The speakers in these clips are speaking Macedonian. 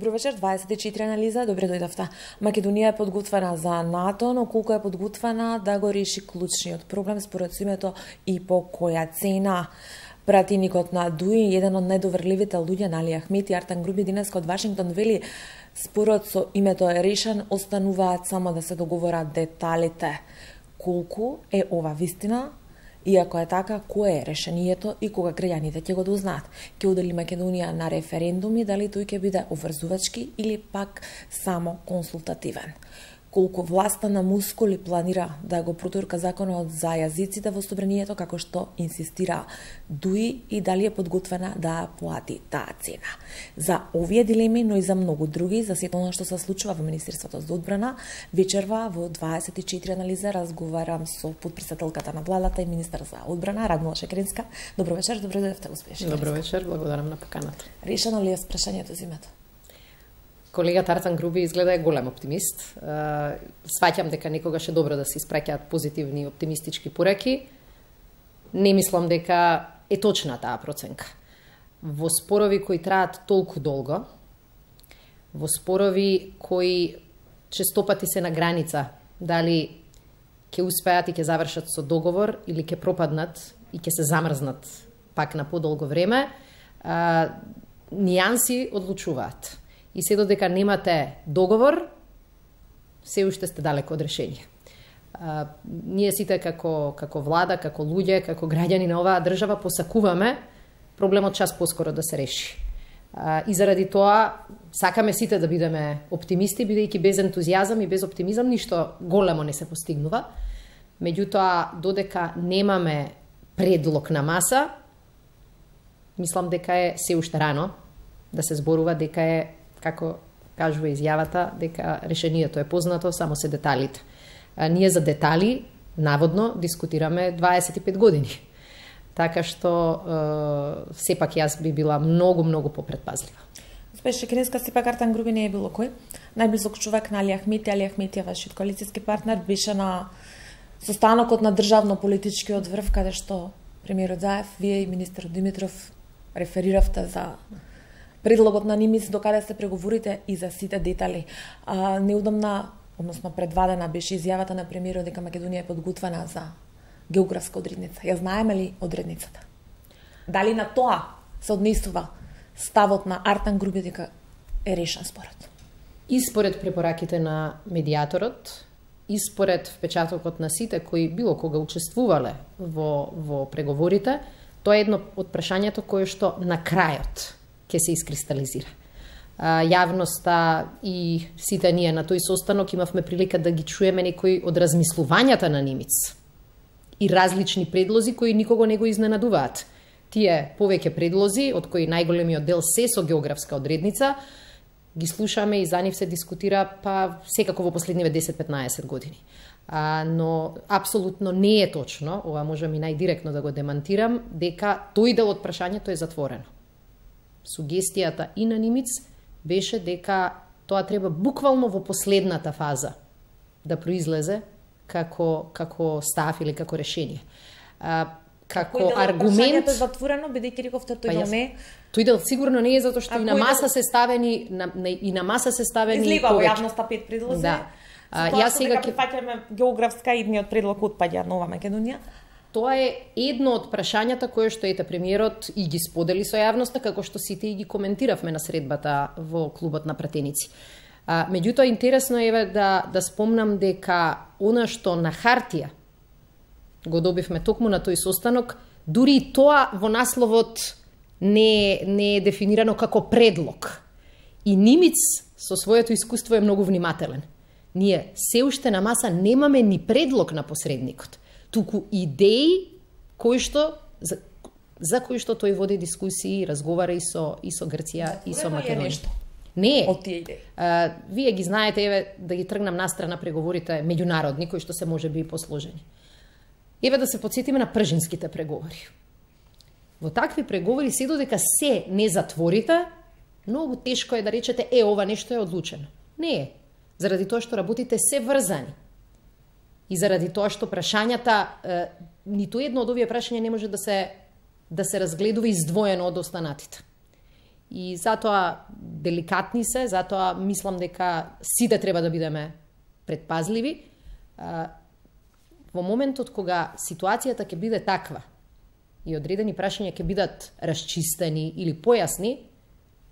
Добро вечер, 24 анализа, добре дојдовте. Македонија е подготвена за НАТО, но колку е подготвена да го реши клучниот проблем според името и по која цена? Пратеникот на ДУИ, еден од најдоверливите луѓе на Али Ахмет и Артан Груби денеска од Вашингтон вели спорот со името е решен, остануваат само да се договорат деталите. Колку е ова вистина? И ако е така, кое е решението и кога граѓаните ќе го дознаат? Ќе удели Македонија на референдуми, дали тој ќе биде обврзувачки или пак само консултативен? Колку власта на мускули планира да го протурка законот за јазиците во собранието, како што инсистира ДУИ, и дали е подготвена да плати таа цена? За овие дилеми, но и за многу други, за сето она што се случува во Министерството за одбрана, вечерва во 24 анализа разговарам со потпредседателката на владата и министар за одбрана Радмила Шекеринска. Добро вечер, добро дојдовте, госпожа Шекеринска. Добро вечер, благодарам на поканата. Решено ли е прашањето за името? Колегата Артан Груби изгледа е голем оптимист. Сваќам дека некогаш е добро да се испраќаат позитивни и оптимистички пораки. Не мислам дека е точна таа проценка. Во спорови кои траат толку долго, во спорови кои честопати се на граница, дали ќе успеат и ќе завршат со договор или ќе пропаднат и ќе се замрзнат пак на подолго време, нијанси одлучуваат. И се додека немате договор, се уште сте далеко од решение. Ние сите како влада, како луѓе, како граѓани на оваа држава посакуваме проблемот час поскоро да се реши. И заради тоа сакаме сите да бидеме оптимисти, бидејќи без ентузијазам и без оптимизам ништо големо не се постигнува. Меѓутоа, додека немаме предлог на маса, мислам дека е се уште рано да се зборува, дека е, како кажува изјавата, дека решението е познато, само се деталите. Ние за детали, наводно, дискутираме 25 години. Така што, сепак јас би била многу попредпазлива. Госпожа Шекеринска, сепак Артан Груби не е било кој. Најблизок човек на Али Ахмет, Али Ахмет е вашиот коалицијски партнер, беше на состанокот на државно-политичкиот врв, каде што премиерот Заев, вие и министерот Димитров рефериравте за предлогот на Нимиц, докаде се преговорите и за сите детали. Неудобна, односно предвадена беше изјавата на премиерот дека Македонија е подготвена за географска одредница. Ја знаеме ли одредницата? Дали на тоа се однесува ставот на Артан Груби дека е решен спорот? И според препораките на медиаторот, и според впечатокот на сите кои било кога учествувале во преговорите, тоа е едно од прашањето кое што на крајот ќе се искристализира. Јавноста и сите ние на тој состанок имавме прилика да ги чуеме некои од размислувањата на Нимиц и различни предлози кои никого не го изненадуваат. Тие повеќе предлози, од кои најголемиот дел се со географска одредница, ги слушаме и за нив се дискутира секако во последниве 10-15 години. Но апсолутно не е точно, ова можам и најдиректно да го демантирам, дека тој дел од прашањето е затворено. Сугестијата и на Нимиц беше дека тоа треба буквално во последната фаза да произлезе како став или како решение. Како аргумент е затворено, бидејќи рековте тој дел не. Тој дел сигурно не е, затоа што и на маса се ставени излива во јавноста 5 предлози. Да. Јас сега ќе прифаќаме географска идниот предлог отпаѓа Нова Македонија. Тоа е едно од прашањата кое што премиерот и ги сподели со јавноста, како што сите и ги коментиравме на средбата во клубот на пратеници. Меѓутоа, интересно е да спомнам дека она што на хартија го добивме токму на тој состанок, дури и тоа во насловот не е дефинирано како предлог. И Нимиц со своето искуство е многу внимателен. Ние се уште на маса немаме ни предлог на посредникот, туку идеи за кои што тој води дискусии, разговара и со Грција и со Македонија. Не е. Од тие идеи. Вие ги знаете, да ги тргнам настрана преговорите меѓународни, кои што се можеби и посложени. Да се потсетиме на пржинските преговори. Во такви преговори, се додека се не затворите, многу тешко е да речете, ова нешто е одлучено. Не е. Заради тоа што работите се врзани. И заради тоа што прашањата, ниту едно од овие прашања не може да се разгледува издвоено од останатите. И затоа деликатни се, затоа мислам дека сите треба да бидеме предпазливи. Во моментот кога ситуацијата ќе биде таква и одредени прашања ќе бидат расчистени или појасни,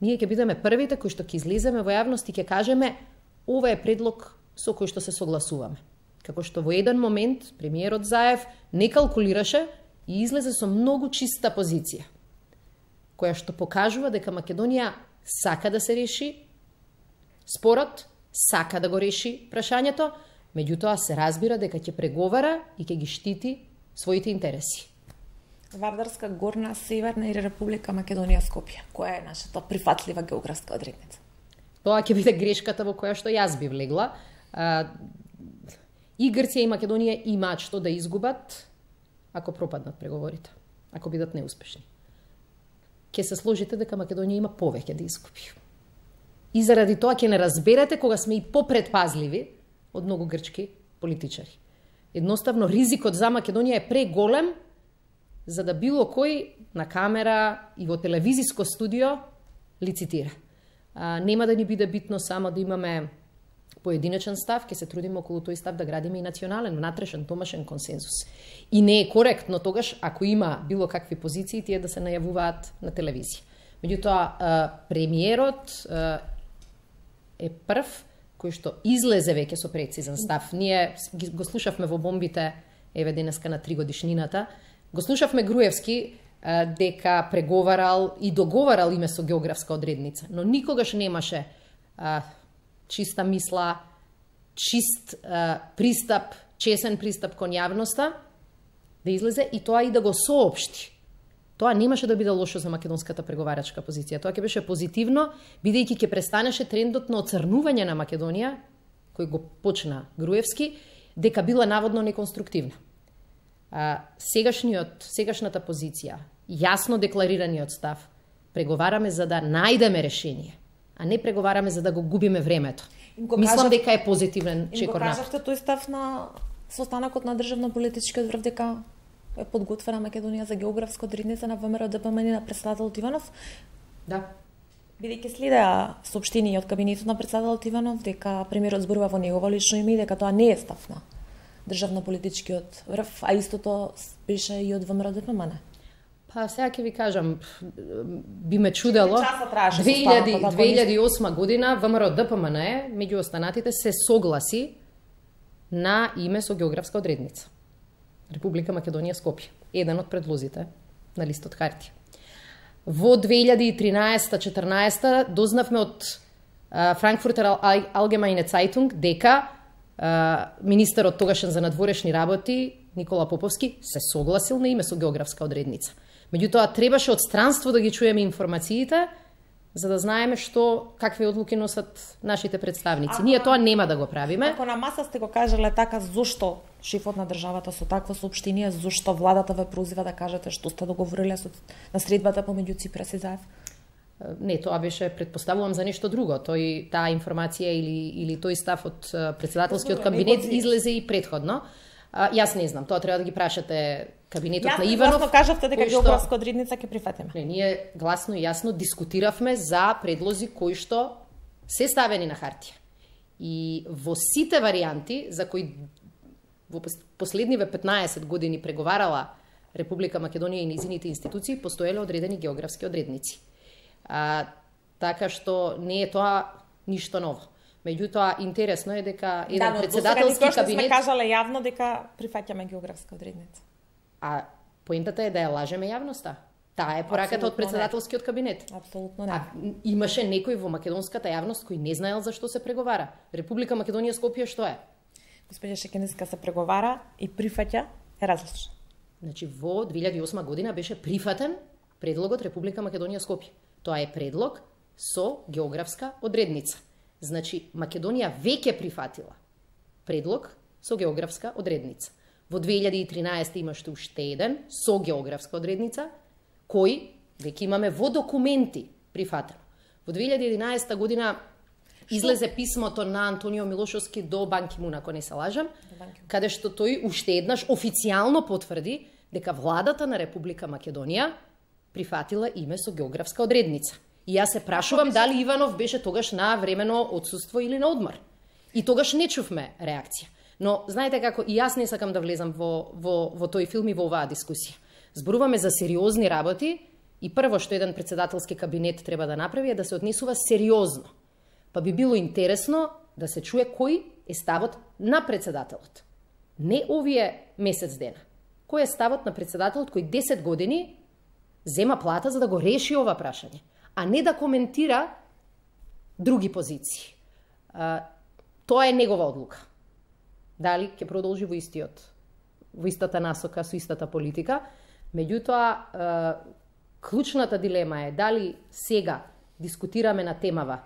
ние ќе бидеме првите кои што ќе излеземе во јавност и ќе кажеме ова е предлог со кој што се согласуваме. Како што во еден момент премиерот Заев не калкулираше и излезе со многу чиста позиција, која што покажува дека Македонија сака да се реши спорот, сака да го реши прашањето, меѓутоа се разбира дека ќе преговара и ќе ги штити своите интереси. Вардарска, Горна, Северна или Република Македонија, Скопје? Која е нашата прифатлива географска одредница? Тоа ќе биде грешката во која што јас би влегла. И Грција и Македонија имаат што да изгубат ако пропаднат преговорите, ако бидат неуспешни. Ќе се сложите дека Македонија има повеќе да изгуби. И заради тоа ќе не разберете кога сме и попредпазливи од многу грчки политичари. Едноставно ризикот за Македонија е преголем за да било кој на камера и во телевизиско студио лицитира. Нема да ни биде битно само да имаме поединечен став, ќе се трудиме околу тој став да градиме и национален, внатрешен, домашен консензус. И не е коректно тогаш, ако има било какви позиции, тие да се најавуваат на телевизија. Меѓутоа, премиерот е прв кој што излезе веќе со прецизен став. Ние го слушавме во бомбите, еве денеска на 3 годишнината, го слушавме Груевски дека преговарал и договарал име со географска одредница, но никогаш немаше чиста мисла, чист пристап, чесен пристап кон јавноста, да излезе и тоа и да го соопшти. Тоа немаше да биде лошо за македонската преговарачка позиција. Тоа ќе беше позитивно, бидејќи ќе престанеше трендот на оцрнување на Македонија, кој го почна Груевски, дека била наводно неконструктивна. Сегашната позиција, јасно декларираниот став, преговараме за да најдеме решение, а не преговараме за да го губиме времето. Мислам дека е позитивен чекор напред. Им го кажавте тој став на состанокот на државно-политичкиот врв дека е подготвена Македонија за географска одредница на ВМРО ДПМН на председателот Иванов? Да. Бидејќи следеа соопштение од кабинетот на председателот Иванов дека премиерот зборува во негово лично име и дека тоа не е став на државно-политичкиот врв, а истото беше и од ВМРО ДПМН. Па сега ќе ви кажам, би ме чудело. 2008 година ВМРО ДПМН меѓу останатите се согласи на име со географска одредница. Република Македонија, Скопје. Еден од предлозите на листот хартија. Во 2013-14 дознавме од Frankfurter Allgemeine Zeitung дека министерот тогашен за надворешни работи Никола Поповски се согласил на име со географска одредница. Меѓутоа требаше од странство да ги чуеме информациите за да знаеме какви одлуки носат нашите представници. Ние тоа нема да го правиме. Ако на маса сте го кажале така, зошто шефот на државата со такво соопштение, зошто владата ве прозива да кажете што сте договориле на средбата помеѓу Ципрас и Заев? Не, тоа беше, предпоставувам, за нешто друго. Таа информација или тој став од председателскиот кабинет излезе и предходно. Јас не знам, тоа треба да ги прашате кабинетот на Иванов. Јасно кажавте дека географска одредница ќе прифатиме. Не, ние гласно и јасно дискутиравме за предлози кои што се ставени на хартија. И во сите варијанти за кои во последниве 15 години преговарала Република Македонија и низините институции, постоеле одредени географски одредници. Така што не е тоа ништо ново. Меѓутоа, интересно е дека еден председателски кабинет... сме кажале јавно дека прифаќаме географска одредница. А поентата е да ја лажеме јавноста. Таа е пораката од председателскиот кабинет. Апсолутно не. Имаше некој во македонската јавност кој не знаел за што се преговара. Република Македонија, Скопје што е? Господја Шекенеска, се преговара и прифаќа е различно. Значи, во 2008 година беше прифатен предлогот Република Македонија, Скопје. Тоа е предлог со географска одредница. Значи, Македонија веќе прифатила предлог со географска одредница. Во 2013 имаше уште еден со географска одредница, кој веќе имаме во документи прифатено. Во 2011 година излезе писмото на Антонио Милошовски до Бан Ки Мун, ако не се лажам, каде што тој уште еднаш официјално потврди дека владата на Република Македонија прифатила име со географска одредница. И јас се прашувам дали Иванов беше тогаш на времено отсуство или на одмор. И тогаш не чувме реакција. Но знаете како, и јас не сакам да влезам во тој филм и во оваа дискусија. Зборуваме за сериозни работи и прво што еден председателски кабинет треба да направи е да се однесува сериозно. Па би било интересно да се чуе кој е ставот на председателот. Не овие месец дена. Кој е ставот на председателот кој 10 години зема плата за да го реши ова прашање, а не да коментира други позиции. Тоа е негова одлука. Дали ќе продолжи во истата насока, со истата политика. Меѓутоа, клучната дилема е дали сега дискутираме на темава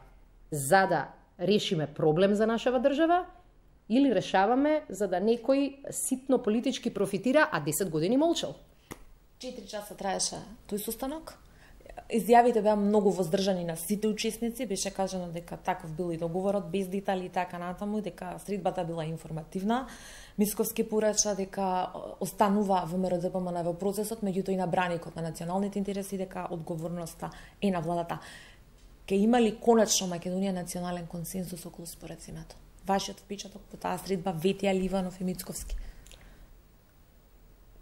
за да решиме проблем за нашава држава или решаваме за да некој ситно политички профитира, а 10 години молчал. 4 часа траеше тој состанок. Изјавите беа многу воздржани на сите учесници, беше кажано дека таков бил и договорот без детали и така натаму, дека средбата била информативна. Мисковски порача дека останува ВМРО-ДПМН во процесот, меѓутоа и на браникот на националните интереси, дека одговорноста е на владата. Ке има ли конечно Македонија национален консенсус околу споразумето? Вашиот впечаток по таа средба, ветија ли Иванов и Мицковски?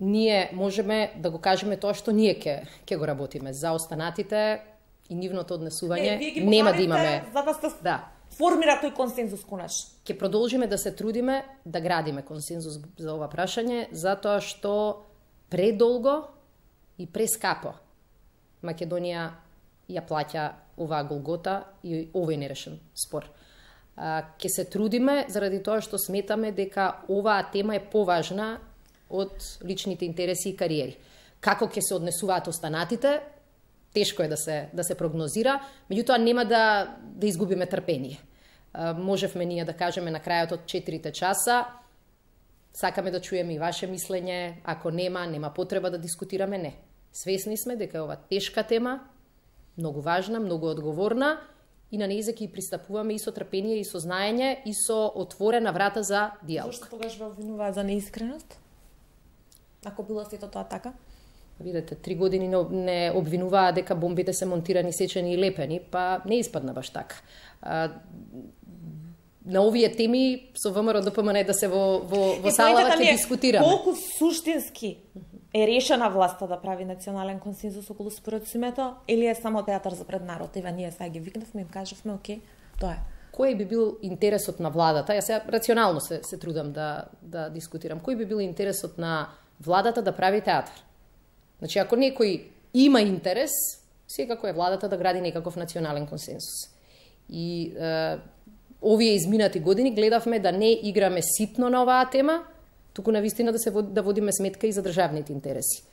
Ние можеме да го кажеме тоа што ние ќе го работиме за останатите и нивното однесување. Нема да имаме за да се формира тој консензус конечно. Ќе продолжиме да се трудиме да градиме консензус за ова прашање, затоа што предолго и прескапо Македонија ја плаќа оваа голгота и овој нерешен спор. Ќе се трудиме заради тоа што сметаме дека оваа тема е поважна од личните интереси и кариери. Како ќе се однесуваат останатите, тешко е да се прогнозира, меѓутоа нема да изгубиме трпение. Можевме ние да кажеме на крајот од 4 часа, сакаме да чуеме и ваше мислење, ако нема потреба да дискутираме, не. Свесни сме дека е ова тешка тема, многу важна, многу одговорна и на нејзе ќе пристапуваме и со трпение, и со знаење, и со отворена врата за диалог. Зошто тогаш ве обвинуваат за неискреност? Ако било сето тоа така? Видете, 3 години не обвинуваа дека бомбите се монтирани, сечени и лепени, па не испадна баш така. На овие теми со ВМРО-ДПМН да се во салава ќе дискутираме. Колку суштински е решена власта да прави национален консензус околу споразумето или е само театар за пред народ? Ева ние сега ги викнавме и им кажавме, окей, тоа е. Кој би бил интересот на владата? Јас сега рационално се трудам да дискутирам. Кој би бил интересот на владата да прави театар? Значи, ако некој има интерес, секако е владата да гради некаков национален консенсус. И овие изминати години гледавме да не играме ситно на оваа тема, туку навистина да водиме сметка и за државните интереси.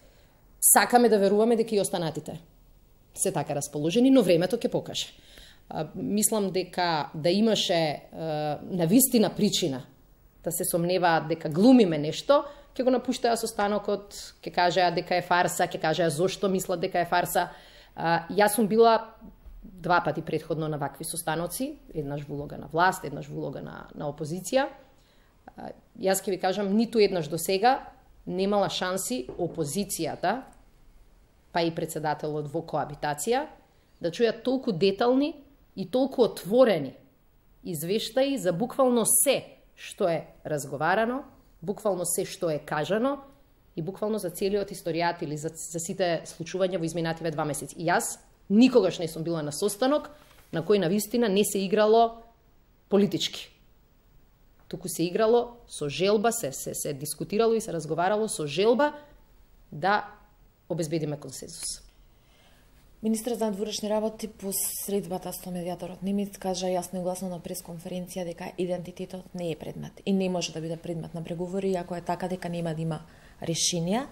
Сакаме да веруваме дека и останатите се така расположени, но времето ќе покаже. Мислам дека да имаше навистина причина да се сомневаат дека глумиме нешто, ќе го напуштаа состанокот, ќе кажеа дека е фарса, ќе кажеа зошто мислат дека е фарса. Јас сум била 2 пати претходно на вакви состаноци, еднаш во улога на власт, еднаш во улога на опозиција. Јас ќе ви кажам, ниту еднаш до сега немала шанси опозицијата, па и председателот во коабитација, да чујат толку детални и толку отворени извештаи за буквално се што е разговарано, буквално се што е кажано и буквално за целиот историјат или за сите случувања во изминативе 2 месеци. И јас никогаш не сум била на состанок на кој навистина не се играло политички. Туку се играло со желба, се дискутирало и се разговарало со желба да обезбедиме консензус. Министрот за надворешни работи по средбата со медијаторот Немец кажа јасно и гласно на пресконференција дека идентитетот не е предмет и не може да биде предмет на преговори, ако е така дека нема да има решенија.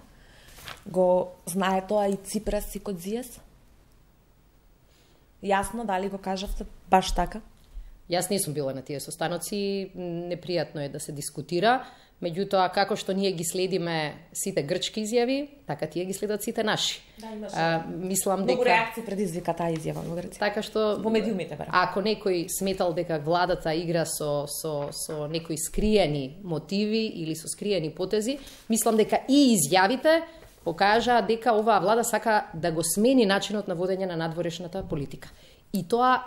Го знае тоа и Ципрас и Кодзијас? Јасно, дали го кажавте баш така? Јас не сум била на тие состаноци, непријатно е да се дискутира, меѓутоа како што ние ги следиме сите грчки изјави, така тие ги следат сите наши. Да, имаше. Мислам многу дека реакции предизвика таа изјава во Грција. Така што во медиумите бара. Ако некој сметал дека владата игра со некои скриени мотиви или со скриени потези, мислам дека и изјавите покажаа дека оваа влада сака да го смени начинот на водење на надворешната политика. И тоа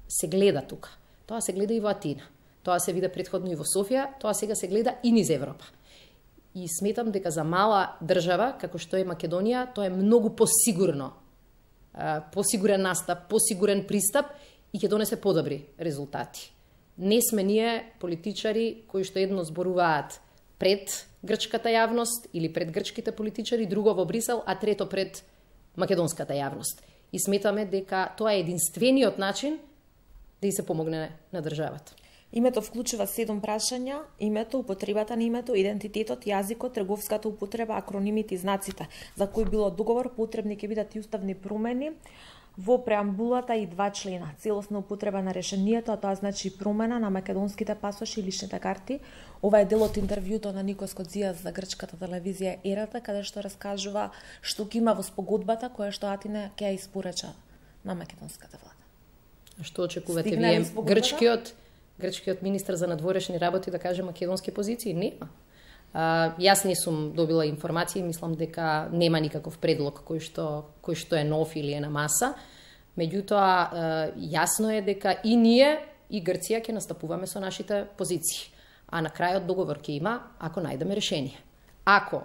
се гледа тука. Тоа се гледа и во Атина. Тоа се виде претходно и во Софија, тоа сега се гледа и низ Европа. И сметам дека за мала држава, како што е Македонија, тоа е многу посигурно. Посигурен настап, посигурен пристап и ќе донесе подобри резултати. Не сме ние политичари кои што едно зборуваат пред грчката јавност или пред грчките политичари, друго во Брисел, а трето пред македонската јавност. И сметаме дека тоа е единствениот начин да и се помогне на државата. Името вклучува 7 прашања: името, употребата на името, идентитетот, јазикот, трговската употреба, акронимите и знаците. За кој било договор потребни ќе бидат и уставни промени во преамбулата и 2 члена. Целосна употреба на решението, а тоа значи промена на македонските пасоши и личните карти. Ова е дел од интервјуто на Никос Кодзијас за грчката телевизија Ерата, каде што раскажува што ќе има во спогодбата која што Атина ќе ја испорача на македонската влада. Што очекувате вие? Грчкиот министар за надворешни работи да каже македонски позиции? Нема. Јас не сум добила информации, мислам дека нема никаков предлог кој што е нов или е на маса. Меѓутоа, јасно е дека и ние, и Грција ќе настапуваме со нашите позиции. А на крајот договор ќе има ако најдеме решение. Ако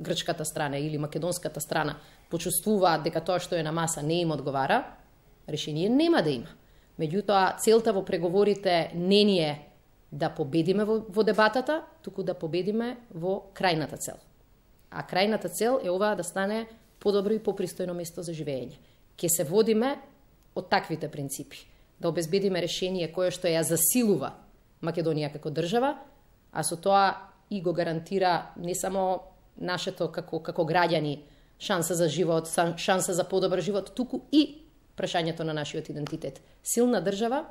грчката страна или македонската страна почувствуваат дека тоа што е на маса не им одговара, решение нема да има. Меѓутоа, целта во преговорите не ни е да победиме во дебатата, туку да победиме во крајната цел. А крајната цел е оваа да стане подобро и попристојно место за живење. Ке се водиме од таквите принципи. Да обезбедиме решение кое што ја засилува Македонија како држава, а со тоа и го гарантира не само нашето како граѓани шанса за живот, шанса за подобар живот, туку и прашањето на нашиот идентитет. Силна држава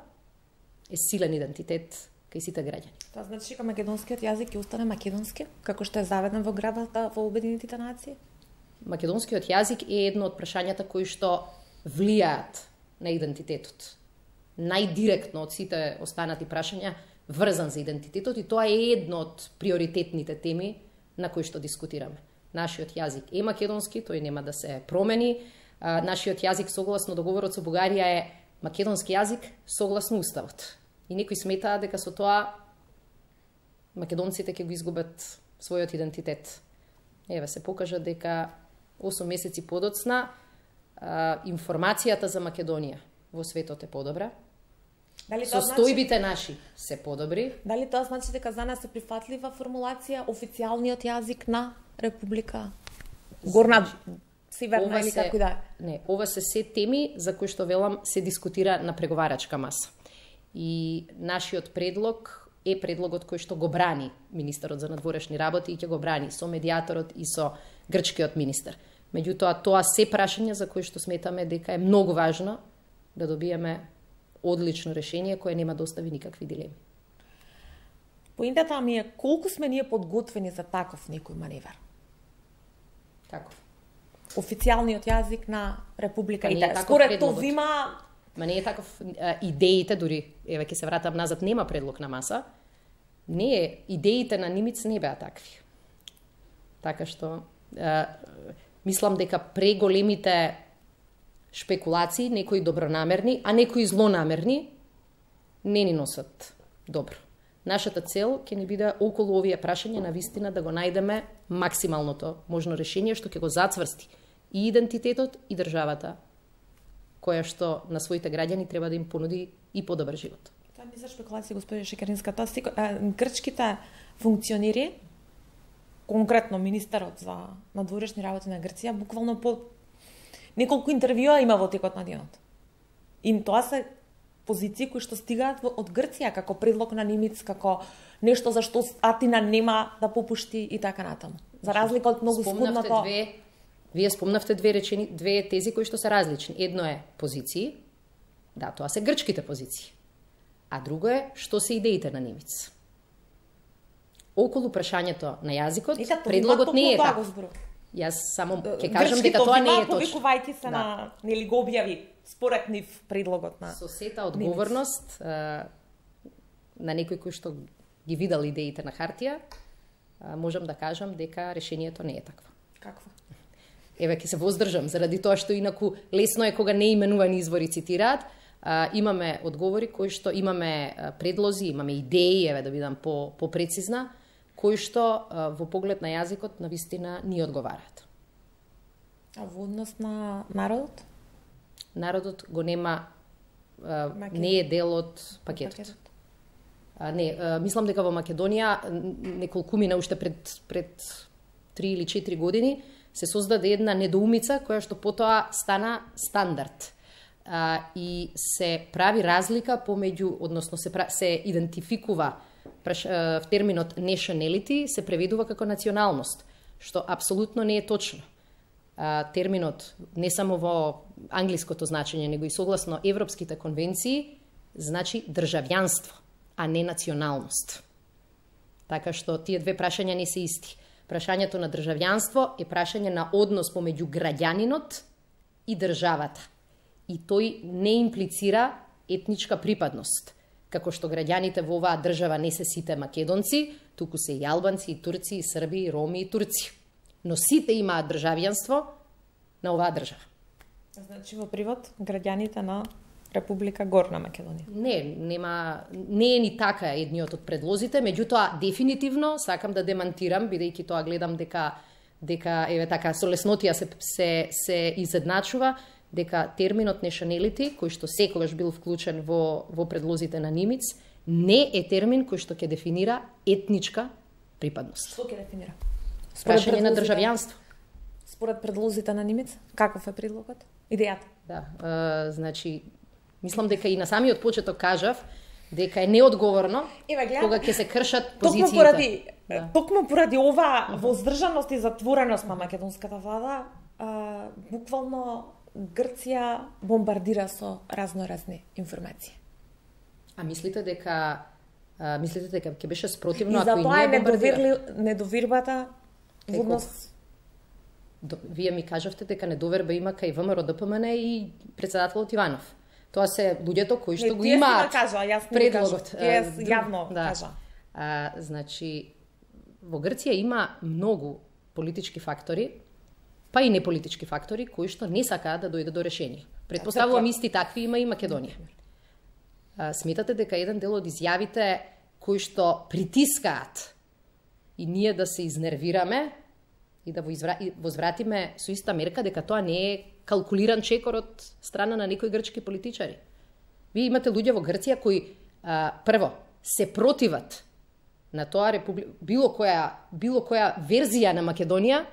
е силен идентитет кај сите граѓани. Тоа значи дека македонскиот јазик ќе остане македонски, како што е заведен во градата во Обединетите нации? Македонскиот јазик е едно од прашањата кои што влијаат на идентитетот. Најдиректно од сите останати прашања врзан за идентитетот, и тоа е едно од приоритетните теми на кои што дискутираме. Нашиот јазик е македонски, тој нема да се промени. Нашиот јазик согласно договорот со Бугарија е македонски јазик согласно уставот. И некои сметаат дека со тоа македонците ќе го изгубат својот идентитет. Еве се покажа дека 8 месеци подоцна информацијата за Македонија во светот е подобра. Состојбите наши се подобри. Дали тоа значи дека за нас е прифатлива формулација официјалниот јазик на Република Горна Северна или како да? Не, ова се теми за кои што велам се дискутира на преговарачка маса. И нашиот предлог е предлогот кој што го брани министерот за надворешни работи и ќе го брани со медијаторот и со грчкиот министер. Меѓутоа, тоа се прашања за кои што сметаме дека е многу важно да добиеме одлично решение кое нема да остави никакви дилеми. Поинтата ми е колку сме ние подготвени за таков некој маневар? Таков. Официјалниот јазик на Република Италија. Според тоа Ма не е таков. Идеите дури, еве ќе се вратам назад, нема предлог на маса. Не е, идеите на Нимиц не беа такви. Така што мислам дека преголемите шпекулации, некои добронамерни, а некои злонамерни, не ни носат добро. Нашата цел ќе ни биде околу овие прашања на вистина да го најдеме максималното можно решение што ќе го зацврсти и идентитетот и државата која што на своите граѓани треба да им понуди и подобар живот. Тоа ми за шпекулација, господи Шекеринска. Грчките функционери, конкретно министерот за надворешни работи на Грција, буквално по неколку интервјуа има во текот на денот. И тоа се позиции кои што стигаат од Грција како предлог на Нимиц, како нешто за што Атина нема да попушти и така натаму. За разлика од многу скудното... Вие спомнавте две тези кои што се различни. Едно е позиции, да, тоа се грчките позиции. А друго е што се идеите на Нимиц. Околу прашањето на јазикот, предлогот не е така. Јас само ќе кажам дека тоа не е точно. Повикувајќи се на нели го објави според нив предлогот на со сета одговорност на некој кој што ги видел идеите на хартија, можам да кажам дека решението не е такво. Какво? еве ќе се воздржам, заради тоа што инаку лесно е кога неименувани извори цитираат. Имаме одговори кои што имаме предлози, имаме идеи, еве да бидам попрецизна, кои што во поглед на јазикот на вистина ни одговараат. А во однос на народот? Народот го нема, не е дел од пакетот. Мислам дека во Македонија неколкумина уште пред 3 или 4 години се создаде една недоумица која што потоа стана стандард. И се прави разлика помеѓу, односно се идентификува терминот nationality, се преведува како националност, што апсолутно не е точно. Терминот не само во англиското значење, него и согласно европските конвенции, значи државјанство, а не националност. Така што тие две прашања не се исти. Прашањето на државјанство е прашање на однос помеѓу граѓанинот и државата. И тој не имплицира етничка припадност. Како што граѓаните во оваа држава не се сите македонци, туку се и албанци, и турци, и срби, и роми, и турци. Но сите имаат државјанство на оваа држава. Значи во привод граѓаните на Република Горна Македонија. Не е ни така едниот од предлозите, меѓутоа дефинитивно сакам да демантирам, бидејќи тоа гледам дека еве така со леснотија се изедначува, дека терминот nationality, кој што секогаш бил вклучен во предлозите на Нимиц, не е термин кој што ќе дефинира етничка припадност. Што ќе дефинира? Прашање на државјанство. Според предлозите на Нимиц, каков е предлогот? Идејата? Да, значи, мислам дека и на самиот почеток кажав дека е неодговорно кога ќе се кршат позициите. Токму поради ова воздржаност и затвореност на македонската влада, буквално Грција бомбардира со разноразни информации. А мислите дека ќе беше спротивно ако и ние бомбардира? И затоа е недовербата во однос. Вие ми кажавте дека недоверба има кај ВМРО ДПМН и председателот Иванов. Тоа се луѓето кои што го имаат предлогот. Јас јавно кажа. Значи, во Грција има многу политички фактори, па и неполитички фактори кои што не сакаат да дојде до решение. Предпоставувам исти такви има и Македонија. Сметате дека еден дел од изјавите кои што притискаат и ние да се изнервираме и да возвратиме со иста мерка, дека тоа не е калкулиран чекор од страна на некои грчки политичари. Вие имате луѓе во Грција кои прво се противат на тоа било која верзија на Македонија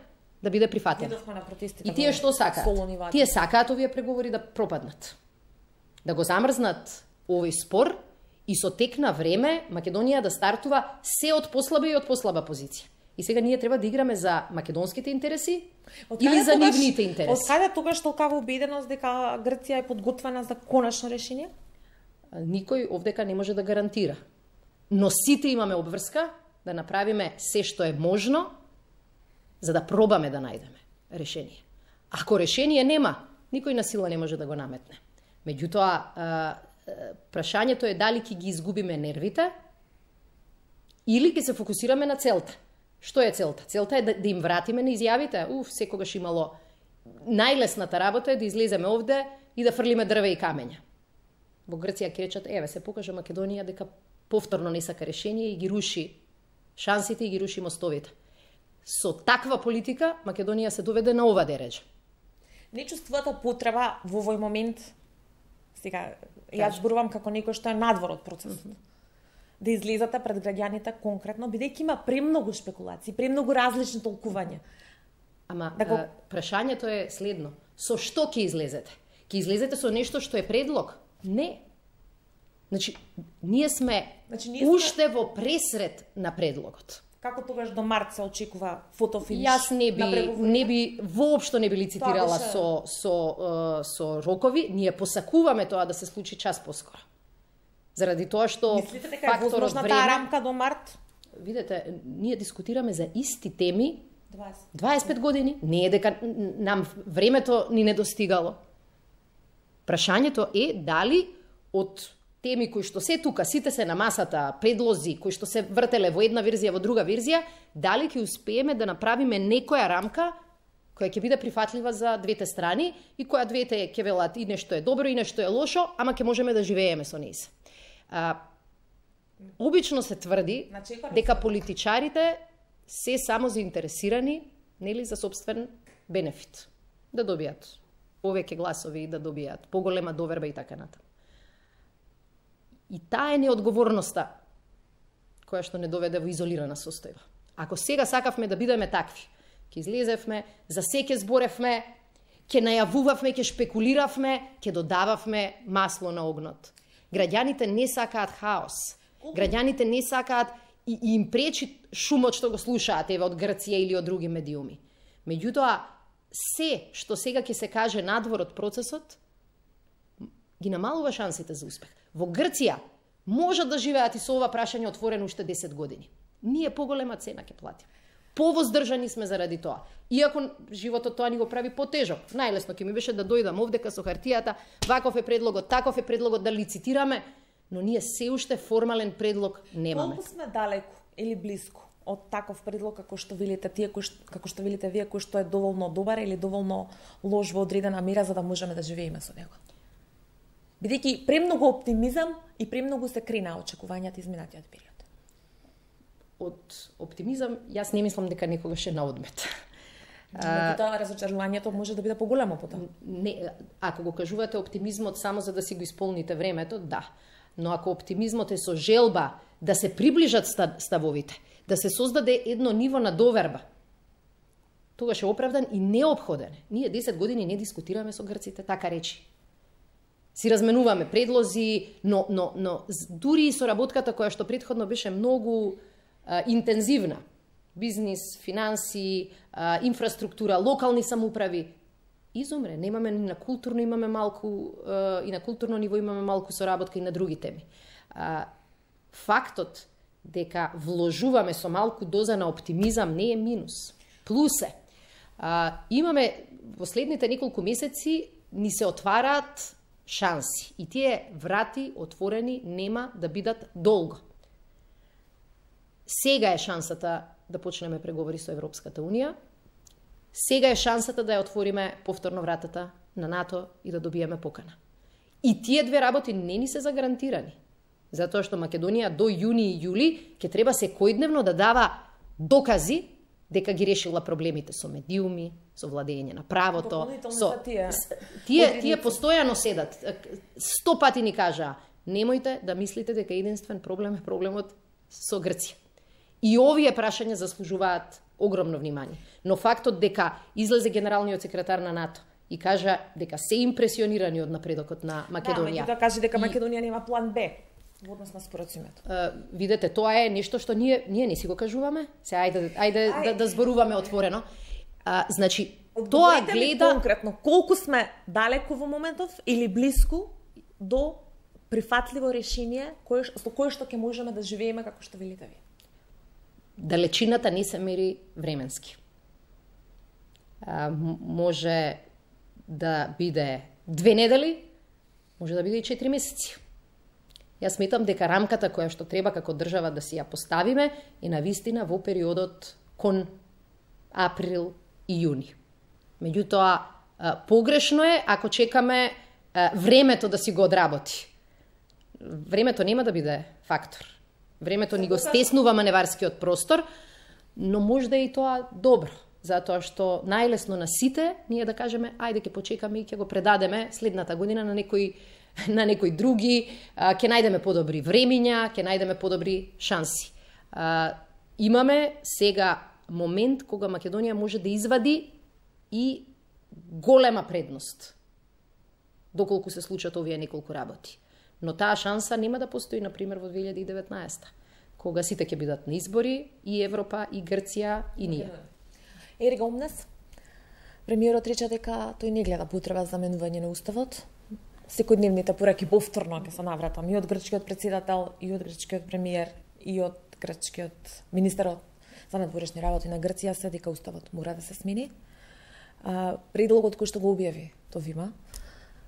да биде прифатена. И тие што сакаат? Тие сакаат овие преговори да пропаднат. Да го замрзнат овој спор и со тек на време Македонија да стартува се од послаба и од послаба позиција. И сега ние треба да играме за македонските интереси или за нивните интереси. Од каде тогаш толкава убеденост дека Грција е подготвена за конечно решение? Никој овдека не може да гарантира. Но сите имаме обврска да направиме се што е можно за да пробаме да најдеме решение. Ако решение нема, никој на сила не може да го наметне. Меѓутоа, прашањето е дали ќе ги изгубиме нервите или ќе се фокусираме на целта. Што е целта? Целта е да им вратиме на изјавите. Секогаш имало најлесната работа е да излеземе овде и да фрлиме дрве и камења. Во Грција ќе речат, еве се покажа Македонија дека повторно не сака решение и ги руши шансите и ги руши мостовите. Со таква политика Македонија се доведе на ова дереџа. Не чувствувате потреба во овој момент, сега јас зборувам како некој што е надвор од процесот, да излезате пред граѓаните конкретно, бидејќи има премногу шпекулации, премногу различни толкувања. Ама прашањето е следно. Со што ќе излезете? Ќе излезете со нешто што е предлог? Не. Значи, ние сме уште во пресред на предлогот. Како тогаш до март се очекува фотофиниш? Јас воопшто не би лицитирала со рокови. Ние посакуваме тоа да се случи час поскоро. Заради тоа што мислите дека е возможна таа рамка до март? Видете, ние дискутираме за исти теми 25 години. Не е дека нам времето ни не достигало. Прашањето е дали од теми кои што се тука, сите се на масата, предлози кои што се вртеле во една верзија, во друга верзија, дали ќе успееме да направиме некоја рамка која ќе биде прифатлива за двете страни и која двете ќе велат и нешто е добро и нешто е лошо, ама ќе можеме да живееме со нејз. Обично се тврди дека политичарите се само заинтересирани, нели, за собствен бенефит, да добијат повеќе гласови, да добијат поголема доверба и така натаму. И таа е неодговорноста која што не доведе во изолирана состојба. Ако сега сакавме да бидеме такви, ќе излезевме, за се ќе зборевме, ќе најавувавме, ќе шпекулиравме, ќе додававме масло на огнот. Граѓаните не сакаат хаос. Граѓаните не сакаат и им пречи шумот што го слушаат еве од Грција или од други медиуми. Меѓутоа, се што сега ќе се каже надвор од процесот, ги намалува шансите за успех. Во Грција можат да живеат и со ова прашање отворено уште 10 години. Ние поголема цена ќе платиме. Повоздржани сме заради тоа. Иако животот тоа ни го прави потежок. Најлесно ќе ми беше да дојдам овдека со хартијата, ваков е предлогот, таков е предлогот, да лицитираме, но ние се уште формален предлог немаме. Колку сме далеку или блиску од таков предлог како што велите тие, како што велите вие, кој што е доволно добар или доволно лош во одредена мера за да можеме да живееме со него? Бидејќи премногу оптимизам и премногу се крена очекувањата изминатиот период. Од оптимизам, јас не мислам дека некогаш е на одмет. Тоа разочарувањето може да биде поголемо по тоа. Не, ако го кажувате оптимизмот само за да си го исполните времето, да. Но ако оптимизмот е со желба да се приближат ставовите, да се создаде едно ниво на доверба, тогаш е оправдан и неопходен. Ние 10 години не дискутираме со грците, така речи. Си разменуваме предлози, но дури и со работката која што претходно беше многу интензивна, бизнис, финанси, инфраструктура, локални самоуправи, изумре. Немаме ни на културно, имаме малку, и на културно ниво имаме малку соработка и на други теми. Фактот дека вложуваме со малку доза на оптимизам не е минус. Плюс е. Имаме во следните неколку месеци ни се отвараат шанси и тие врати отворени нема да бидат долго. Сега е шансата да почнеме преговори со Европската Унија. Сега е шансата да ја отвориме повторно вратата на НАТО и да добиеме покана. И тие две работи не ни се загарантирани. Затоа што Македонија до јуни и јули ќе треба секојдневно да дава докази дека ги решила проблемите со медиуми, со владење на правото, со тие постојано седат. 100 пати ни кажаа: немојте да мислите дека единствен проблем е проблемот со Грција. И овие прашања заслужуваат огромно внимание. Но фактот дека излезе генералниот секретар на НАТО и кажа дека се импресионирани од напредокот на Македонија. Да, каже дека Македонија нема план Б во однос на споразумето. Видете, тоа е нешто што ние не си го кажуваме. Се ајде да зборуваме отворено. Значи, тоа гледа конкретно колку сме далеку во моментов или блиску до прифатливо решение со кое што ќе можеме да живееме како што велите вие. Далечината не се мери временски. Може да биде 2 недели, може да биде и 4 месеци. Јас сметам дека рамката која што треба како држава да си ја поставиме е навистина во периодот кон април и јуни. Меѓутоа, погрешно е ако чекаме времето да си го одработи. Времето нема да биде фактор. Времето ни го стеснува маневарскиот простор, но можда и тоа добро, затоа што најлесно на сите ние да кажеме ајде ќе почекаме и ќе го предадеме следната година на некои други, ќе најдеме подобри времиња, ќе најдеме подобри шанси. Имаме сега момент кога Македонија може да извади и голема предност, доколку се случат овие неколку работи. Но таа шанса нема да постои, например, во 2019, кога сите ќе бидат на избори, и Европа, и Грција, и ние. Ерик Омнес, премиерот рече дека тој не гледа потреба за менување на уставот. Секојдневните пораки повторно ќе се навратам и од грчкиот председател, и од грчкиот премиер, и од грчкиот министерот за надворешни работи на Грција се дека уставот мора да се смени. Предлогот кој што го објави Товима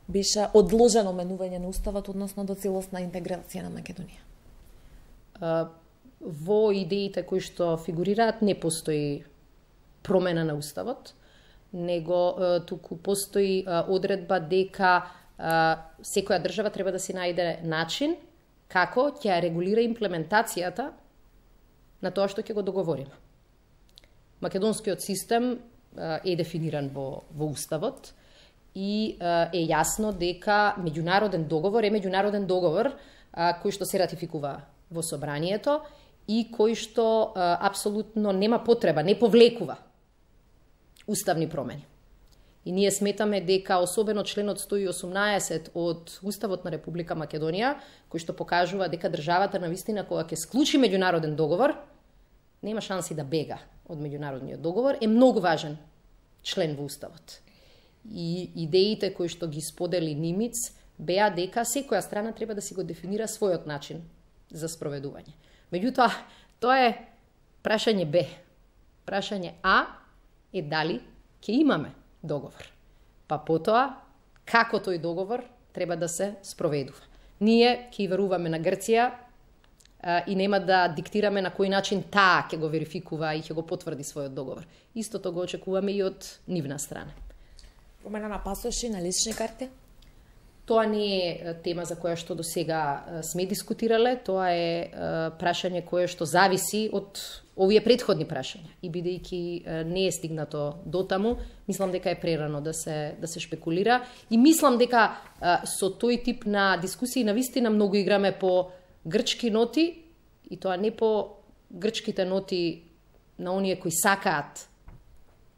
беше одложено менување на уставот, односно до целосна интеграција на Македонија. Во идеите кои што фигурираат не постои промена на уставот, него туку постои одредба дека секоја држава треба да си најде начин како ќе регулира имплементацијата на тоа што ќе го договориме. Македонскиот систем е дефиниран во Уставот и е јасно дека меѓународен договор е меѓународен договор кој што се ратификува во собранието и кој што апсолутно нема потреба, не повлекува уставни промени. И ние сметаме дека особено членот 118 од Уставот на Република Македонија, кој што покажува дека државата навистина кога ќе склучи меѓународен договор, нема шанси да бега од меѓународниот договор, е многу важен член во Уставот. И идеите кои што ги сподели Нимиц беа дека секоја страна треба да си го дефинира својот начин за спроведување. Меѓутоа, тоа е прашање Б. Прашање А е дали ќе имаме договор. Па потоа, како тој договор треба да се спроведува. Ние ќе веруваме на Грција и нема да диктираме на кој начин таа ќе го верификува и ќе го потврди својот договор. Истото го очекуваме и од нивна страна. Промена на пасоши, на лични карти? Тоа не е тема за која што до сега сме дискутирале, тоа е прашање кое што зависи од овие претходни прашања. И бидејќи не е стигнато до таму, мислам дека е прерано да се шпекулира и мислам дека со тој тип на дискусии навистина многу играме по грчки ноти и тоа не по грчките ноти на оние кои сакаат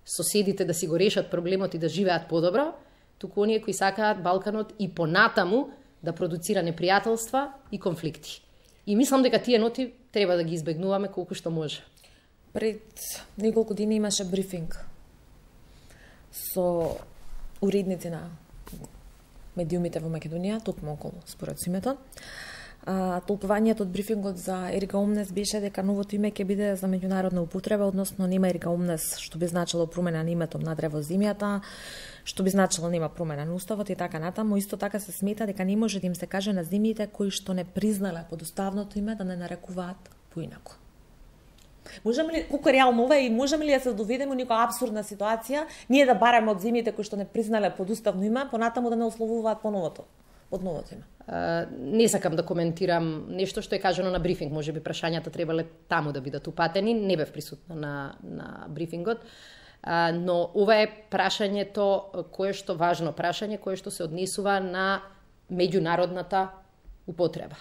соседите да си го решат проблемот и да живеат подобро, туку оние кои сакаат Балканот и понатаму да продуцира непријателства и конфликти. И мислам дека тие ноти треба да ги избегнуваме колку што може. Пред неколку дни имаше брифинг со уредници на медиумите во Македонија, токму околу споразумето. Толкувањето од брифингот за Ерика Омнес беше дека новото име ќе биде за меѓународна употреба, односно нема Ерика Омнес, што би значило промена на името надре во земјата, што би значило нема промена на уставот и така натаму. Исто така се смета дека не може да им се каже на земјите кои што не признале под уставното име да не нарекуваат поинаку. Можеме ли, колку реално ова и можеме ли да се доведеме во некоја апсурдна ситуација, ние да бараме од земјите кои што не признале под уставно име, понатаму да не условуваат под новото име? Не сакам да коментирам нешто што е кажано на брифинг, може би прашањата требале таму да бидат упатени, не бев присутна на брифингот, но ова е прашањето кое што важно прашање, кое што се однесува на меѓународната употреба.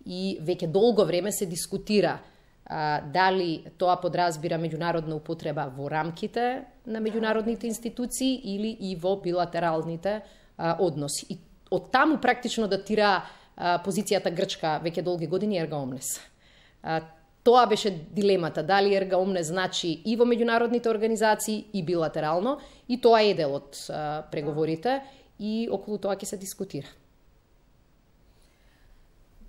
И веќе долго време се дискутира дали тоа подразбира меѓународна употреба во рамките на меѓународните институции или и во билатералните односи. И од таму практично датира позицијата грчка веќе долги години Ерга Омнес. Тоа беше дилемата, дали Ерга Омнес значи и во меѓународните организации и билатерално, и тоа е дел од преговорите и околу тоа ќе се дискутира.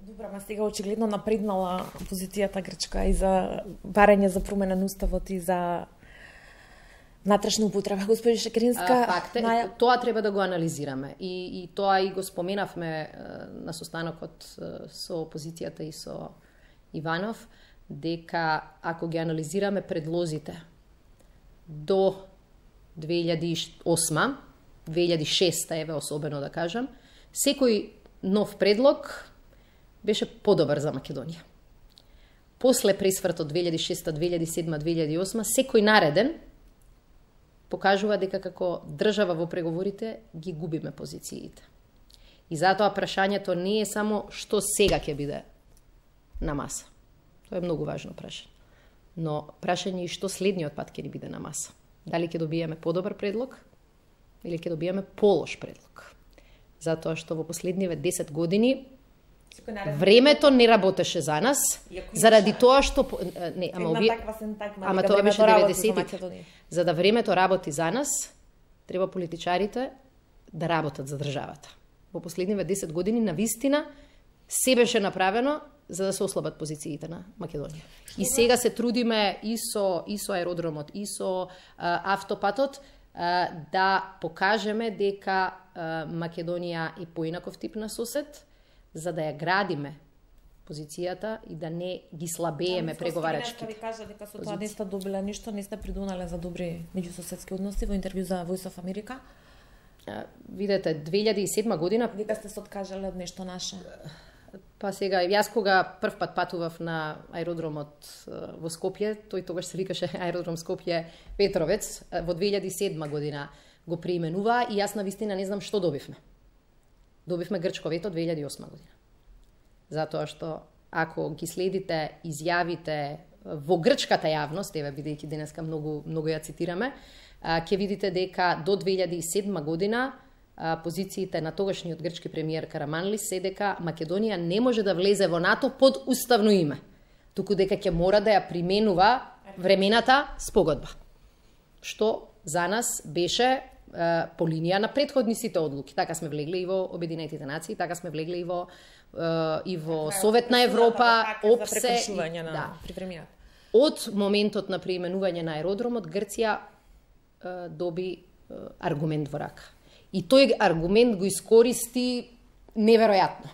Добра, ма сега очигледно напреднала позицијата грчка и за барање за промена на уставот и за внатрешна употреба. Господи Шекеринска... Факт е, тоа треба да го анализираме. И тоа и го споменавме на состанокот со опозицијата и со Иванов, дека ако ги анализираме предлозите до 2008, 2006, еве особено да кажам, секој нов предлог беше подобар за Македонија. После пресвртот 2006, 2007, 2008, секој нареден покажува дека како држава во преговорите ги губиме позициите. И затоа прашањето не е само што сега ќе биде на маса. Тоа е многу важно прашање. Но прашање и што следниот пат ќе ни биде на маса. Дали ќе добиеме подобар предлог или ќе добиеме полош предлог. Затоа што во последниве 10 години времето не работеше за нас, заради тоа што ама тоа беше 90-ти. За да времето работи за нас, треба политичарите да работат за државата. Во последниве 10 години навистина се беше направено за да се ослабат позициите на Македонија. И сега се трудиме и со аеродромот, и со автопатот да покажеме дека Македонија е поинаков тип на сосед, за да ја градиме позицијата и да не ги слабееме преговарачките. Ви кажа дека со тоа не сте добила ништо, не сте придонале за добри меѓусоседски односи во интервју за Voice of America. Видете, 2007 година... Дека сте се откажале од нешто наше. Па сега, јас кога прв пат патував на аеродромот во Скопје, тој тогаш се викаше аеродром Скопје Петровец, во 2007 година го преименува и јас навистина не знам што добивме. Добивме грчко вето 2008 година. Затоа што ако ги следите изјавите во грчката јавност, еве бидејќи денеска многу ја цитираме, ќе видите дека до 2007 година позициите на тогашниот грчки премиер Караманлис се дека Македонија не може да влезе во НАТО под уставно име, туку дека ќе мора да ја применува времената спогодба. Што за нас беше по линија на претходниците одлуки. Така сме влегле и во Обединетите нации, така сме влегле и во Совет на Европа, ОПСЕ. Од моментот на преименување на аеродромот, Грција доби аргумент во рака. И тој аргумент го искористи неверојатно.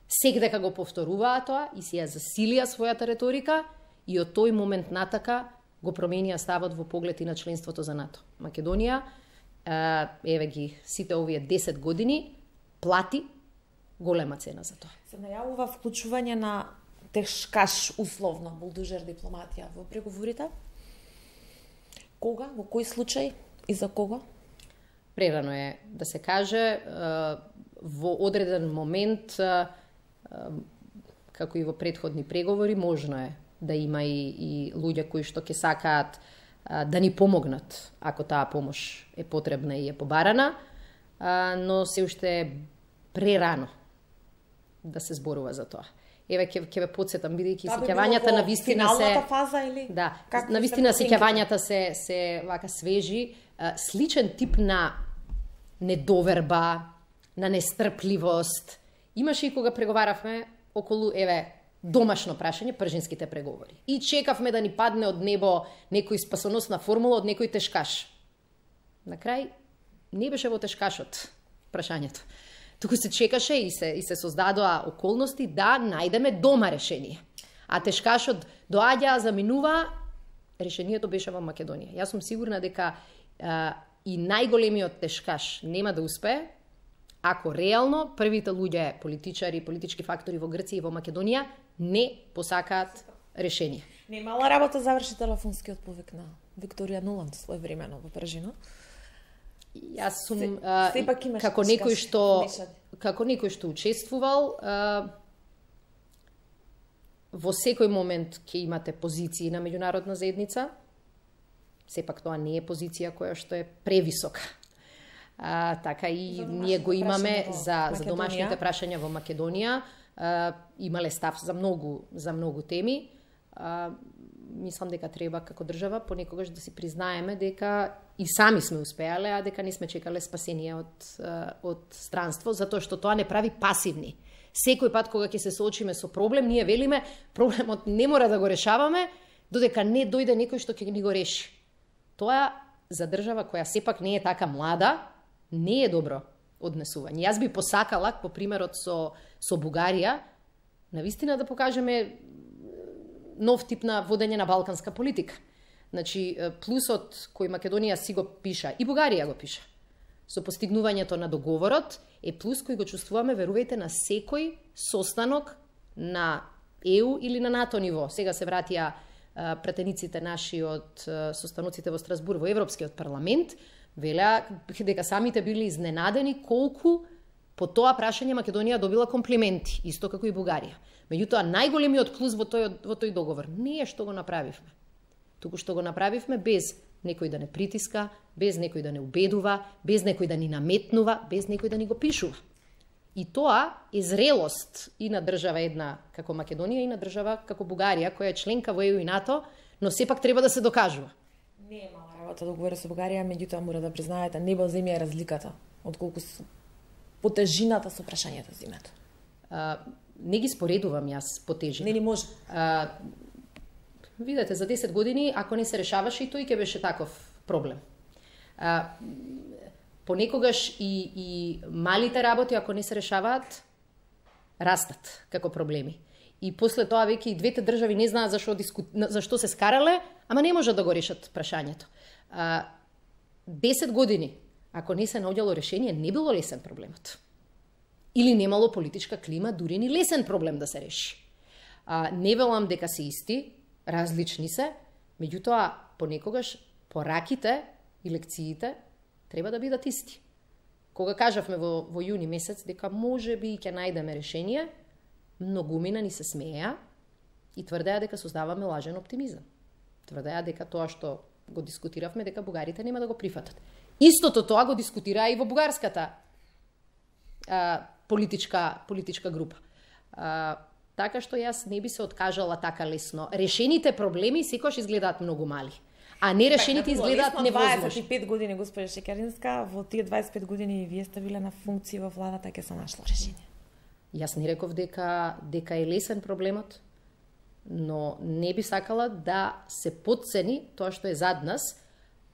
Секдека го повторуваа тоа и си ја засилија својата реторика и од тој момент натака го променија ставот во поглед и на членството за НАТО. Македонија, еве ги сите овие 10 години, плати голема цена за тоа. Се најавува вклучување на тешкаш условно булдужер дипломатија во преговорите? Кога, во кој случај и за кого? Прерано е да се каже, во одреден момент, како и во претходни преговори, можно е да има и луѓе кои што ќе сакаат да ни помогнат, ако таа помош е потребна и е побарана, но се уште е прерано да се зборува за тоа. Еве ќе ве потсетам, бидејќи сеќавањата на вистина се фаза или да, на вистина сеќавањата се вака свежи, сличен тип на недоверба, на нестрпливост. Имаше и кога преговаравме околу домашно прашање, пржинските преговори. И чекавме да ни падне од небо некој спасоносна формула од некој тешкаш. На крај не беше во тешкашот прашањето. Туку се чекаше и се создадоа околности да најдеме дома решение. А тешкашот доаѓа, заминува, решението беше во Македонија. Јас сум сигурна дека и најголемиот тешкаш нема да успее ако реално првите луѓе, политичари, политички фактори во Грција и во Македонија не посакаат решение. Немала работа заврши телефонскиот повик на Викторија Нуланд своевремено во Пржино. Јас сум како некој што учествувал, во секој момент ќе имате позиции на меѓународна заедница. Сепак тоа не е позиција која што е превисока. Така и ние го имаме за домашните прашања во Македонија. Имале став за многу теми. Мислам дека треба како држава понекогаш да си признаеме дека и сами сме успеале, а дека не сме чекале спасение од странство, затоа што тоа не прави пасивни. Секој пат кога ќе се соочиме со проблем, ние велиме проблемот не мора да го решаваме додека не дојде некој што ќе ни го реши. Тоа за држава која сепак не е така млада, не е добро однесување. Јас би посакала, по примерот со Бугарија, навистина да покажеме нов тип на водење на балканска политика. Значи, плюсот кој Македонија си го пиша, и Бугарија го пиша, со постигнувањето на договорот, е плюс кој го чувствуваме, верувајте, на секој состанок на ЕУ или на НАТО ниво. Сега се вратија пратениците наши од состаноците во Страсбур во Европскиот парламент, велеа дека самите били изненадени колку по тоа прашање Македонија добила комплименти, исто како и Бугарија. Меѓутоа, најголемиот плюс во тој договор не е што го направивме, туку што го направивме без некој да не притиска, без некој да не убедува, без некој да ни наметнува, без некој да ни го пишува. И тоа е зрелост и на држава една како Македонија и на држава како Бугарија, која е членка во ЕУ и НАТО, но сепак треба да се докажува. Не е мала работа да говори со Бугарија, меѓутоа мора да признаете, небо земја е разликата од колку по тежината со прашањето за името. Не ги споредувам јас по тежина. Не може. Видете, за 10 години, ако не се решаваше и тој ќе беше таков проблем. Понекогаш и малите работи, ако не се решаваат, растат како проблеми. И после тоа веќе и двете држави не знаат зашто се скарале, ама не можат да го решат прашањето. 10 години, ако не се наоѓало решение, не било лесен проблемот. Или немало политичка клима, дури ни лесен проблем да се реши. Не велам дека се исти, различни се, меѓутоа понекогаш пораките и лекциите треба да бидат исти. Кога кажавме во јуни месец дека може би ќе најдеме решение, многумина ни се смеја и тврдеа дека создаваме лажен оптимизам. Тврдеа дека тоа што го дискутиравме, дека бугарите нема да го прифатат. Истото тоа го дискутираа и во бугарската политичка група. Така што јас не би се откажала така лесно. Решените проблеми секогаш изгледаат многу мали, а нерешените изгледаат невозможни. 25 години, госпожа Шекеринска, во тие 25 години вие сте биле на функција во владата, ќе се нашло решение. Јас не реков дека е лесен проблемот, но не би сакала да се потцени тоа што е зад нас,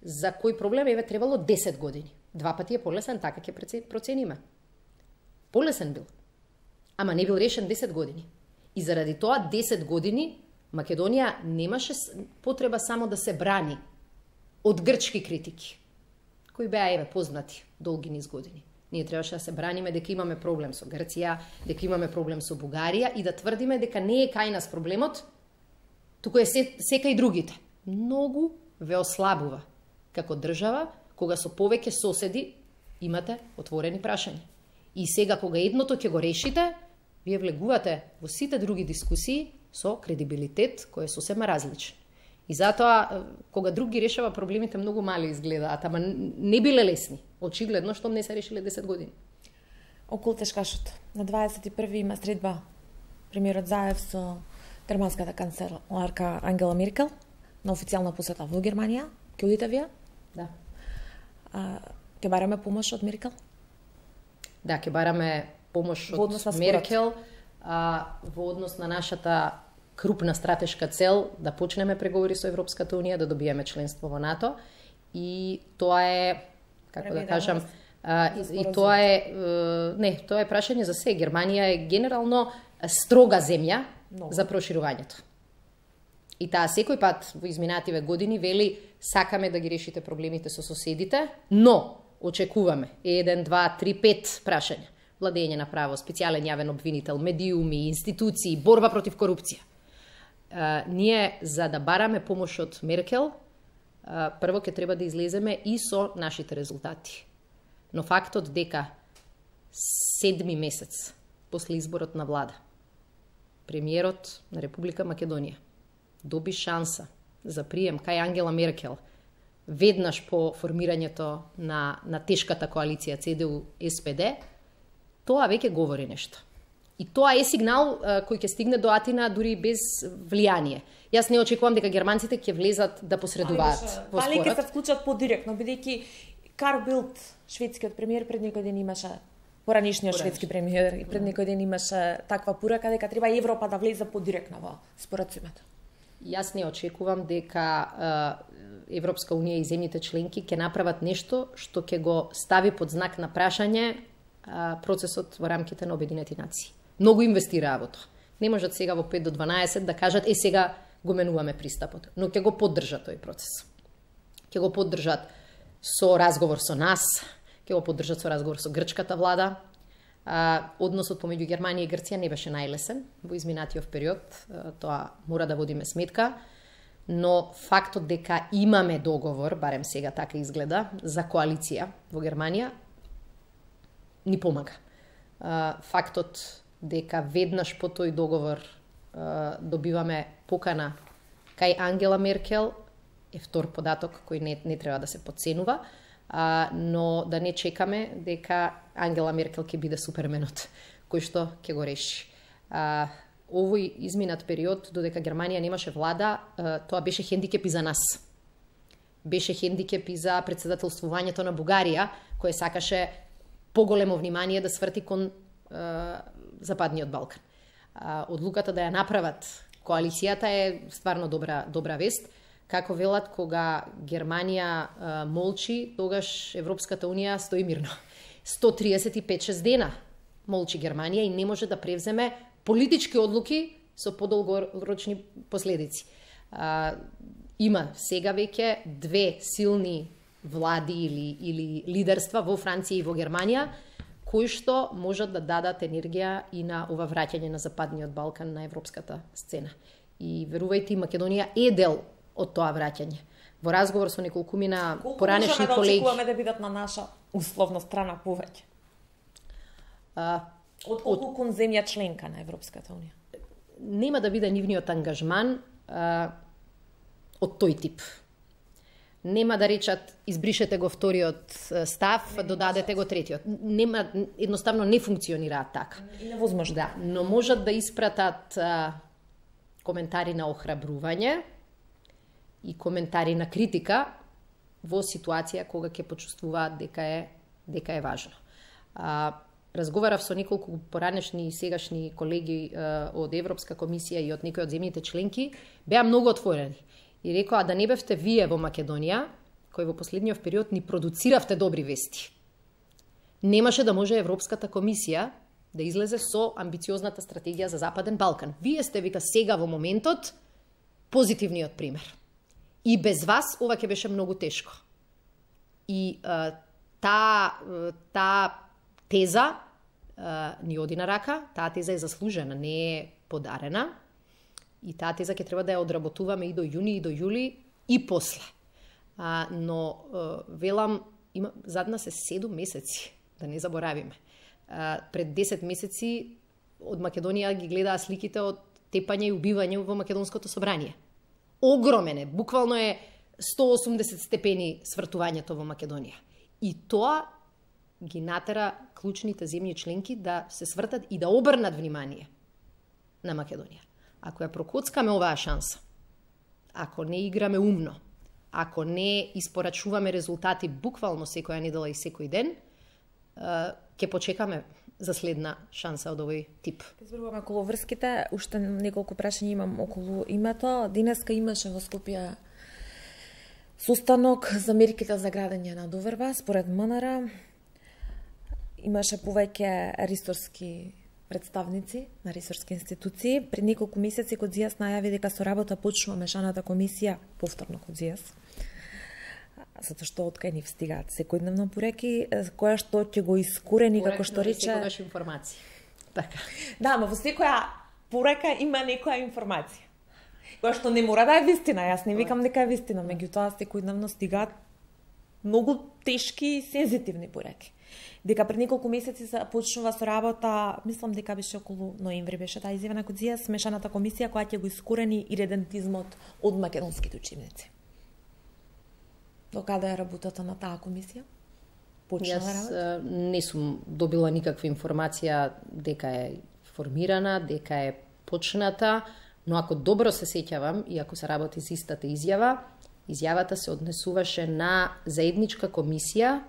за кој проблем еве требало 10 години. 2 пати е полесен, така ќе процениме. Полесен бил, ама не бил решен 10 години. И заради тоа 10 години Македонија немаше потреба само да се брани од грчки критики, кои беа еве познати долги низ години. Ние требаше да се браниме дека имаме проблем со Грција, дека имаме проблем со Бугарија и да тврдиме дека не е кај нас проблемот, туку е секај другите. Многу ве ослабува како држава кога со повеќе соседи имате отворени прашања. И сега кога едното ќе го решите, вие влегувате во сите други дискусии со кредибилитет кој е сосема различен. И затоа, кога друг ги решава проблемите, многу мали изгледаат, ама не биле лесни. Очигледно, што не се решиле 10 години. Околу тешкашот. На 21 има средба премиерот Заев со германската канцеларка Ангела Меркел на официјална посета во Германија. Ќе одите вие? Да. Ќе бараме помош од Меркел? Да, ќе бараме помош од Меркел во однос на нашата крупна стратешка цел да почнеме преговори со Европската Унија, да добиеме членство во НАТО. И тоа е, како да кажам, и тоа е прашање за се. Германија е генерално строга земја за проширувањето. И таа секој пат во изминативе години вели сакаме да ги решите проблемите со соседите, но очекуваме 1, 2, 3, 5 прашања. Владење на право, специјален јавен обвинител, медиуми, институции, борба против корупција. Ние, за да бараме помош од Меркел, прво ќе треба да излеземе и со нашите резултати. Но фактот дека 7 месец после изборот на влада, премиерот на Република Македонија доби шанса за прием кај Ангела Меркел веднаш по формирањето на тешката коалиција CDU-SPD, тоа веќе говори нешто. И тоа е сигнал кој ќе стигне до Атина дури без влијание. Јас не очекувам дека германците ќе влезат да посредуваат во спорот. Дали ќе се вклучат подиректно, бидејќи Карл Билт, шведскиот премиер, пред некој ден имаше, поранишниот шведски премиер, и пред некој ден имаше таква порака дека треба Европа да влезе подиректно во споразумето. Јас не очекувам дека Европска Унија и земјите членки ќе направат нешто што ќе го стави под знак на прашање процесот во рамките на Обединети нации. Многу инвестираа во тоа. Не можат сега во 5 до 12 да кажат сега го менуваме пристапот, но ќе го поддржат тој процес. Ќе го поддржат со разговор со нас, ќе го поддржат со разговор со грчката влада. Односот помеѓу Германија и Грција не беше најлесен во изминатиот период, тоа мора да водиме сметка, но фактот дека имаме договор, барем сега така изгледа, за коалиција во Германија ни помага. Фактот дека веднаш по тој договор добиваме покана кај Ангела Меркел е втор податок кој не треба да се подценува, но да не чекаме дека Ангела Меркел ќе биде суперменот кој што ќе го реши. Овој изминат период, додека Германија немаше влада, тоа беше хендикеп и за нас. Беше хендикеп и за председателствувањето на Бугарија, кој сакаше поголемо внимание да сврти кон Западниот Балкан. Одлуката да ја направат коалицијата е стварно добра вест. Како велат, кога Германија молчи, тогаш Европската Унија стои мирно. 135-6 дена молчи Германија и не може да превземе политички одлуки со подолгорочни последици. Има сега веќе две силни влади или лидерства во Франција и во Германија, кои што можат да дадат енергија и на ова враќање на Западниот Балкан на европската сцена. И верувајте, Македонија е дел од тоа враќање. Во разговор со неколкумина поранешни колеги... Колку можеме да очекуваме да бидат на наша условно страна повеќе? Од колку кон земја членка на Европската Унија? Нема да биде нивниот ангажман од тој тип. Нема да речат избришете го вториот став, додадете го третиот. Нема, едноставно не функционираат така. И невозможно. Да, но можат да испратат коментари на охрабрување и коментари на критика во ситуација кога ќе почувствуваат дека е важно. Разговарав со неколку поранешни и сегашни колеги од Европска комисија и од некои од земјите членки, беа многу отворени. И рекоа да не бевте вие во Македонија, кои во последниот период ни продуциравте добри вести. Немаше да може Европската комисија да излезе со амбициозната стратегија за Западен Балкан. Вие сте, вика, сега во моментот позитивниот пример. И без вас ова ќе беше многу тешко. И таа теза ни оди на рака, таа теза е заслужена, не е подарена. И таа теза ќе треба да ја одработуваме и до јуни, и до јули, и после. Но велам, зад нас е 7 месеци, да не заборавиме. Пред 10 месеци од Македонија ги гледаа сликите од тепање и убивање во Македонското собрание. Огромен е, буквално е 180 степени свртувањето во Македонија. И тоа ги натера клучните земји членки да се свртат и да обрнат внимание на Македонија. Ако ја прокоцкаме оваа шанса, ако не играме умно, ако не испорачуваме резултати буквално секоја недела и секој ден, ќе почекаме за следна шанса од овој тип. Ке зборуваме околу врските, уште неколку прашања имам околу името. Денеска имаше во Скопје состанок за мерките за градење на доверба, според МНР. Имаше повеќе ресорски представници на ресорски институции. Пред неколку месеци Кодзијас најави дека со работа почнува мешаната комисија, повторно Кодзијас, затоа што од кај нив стигаат секојдневно пореки, која што ќе го искорени, како што рече... Секогаш информација. Така. Да, но во секоја порека има некоја информација, која што не мора да е вистина. Јас не викам дека е вистина, меѓутоа секојдневно стигаат многу тешки и сензитивни пореки. Дека пред неколку месеци почнува со работа, мислам дека беше околу ноември беше таа изјава на Кодзијас, смешаната комисија која ќе го искорени иредентизмот од македонските учебници. До каде е работата на таа комисија? Почнала работа? Јас не сум добила никаква информација дека е формирана, дека е почната, но ако добро се сеќавам и ако се работи за истата изјавата се однесуваше на заедничка комисија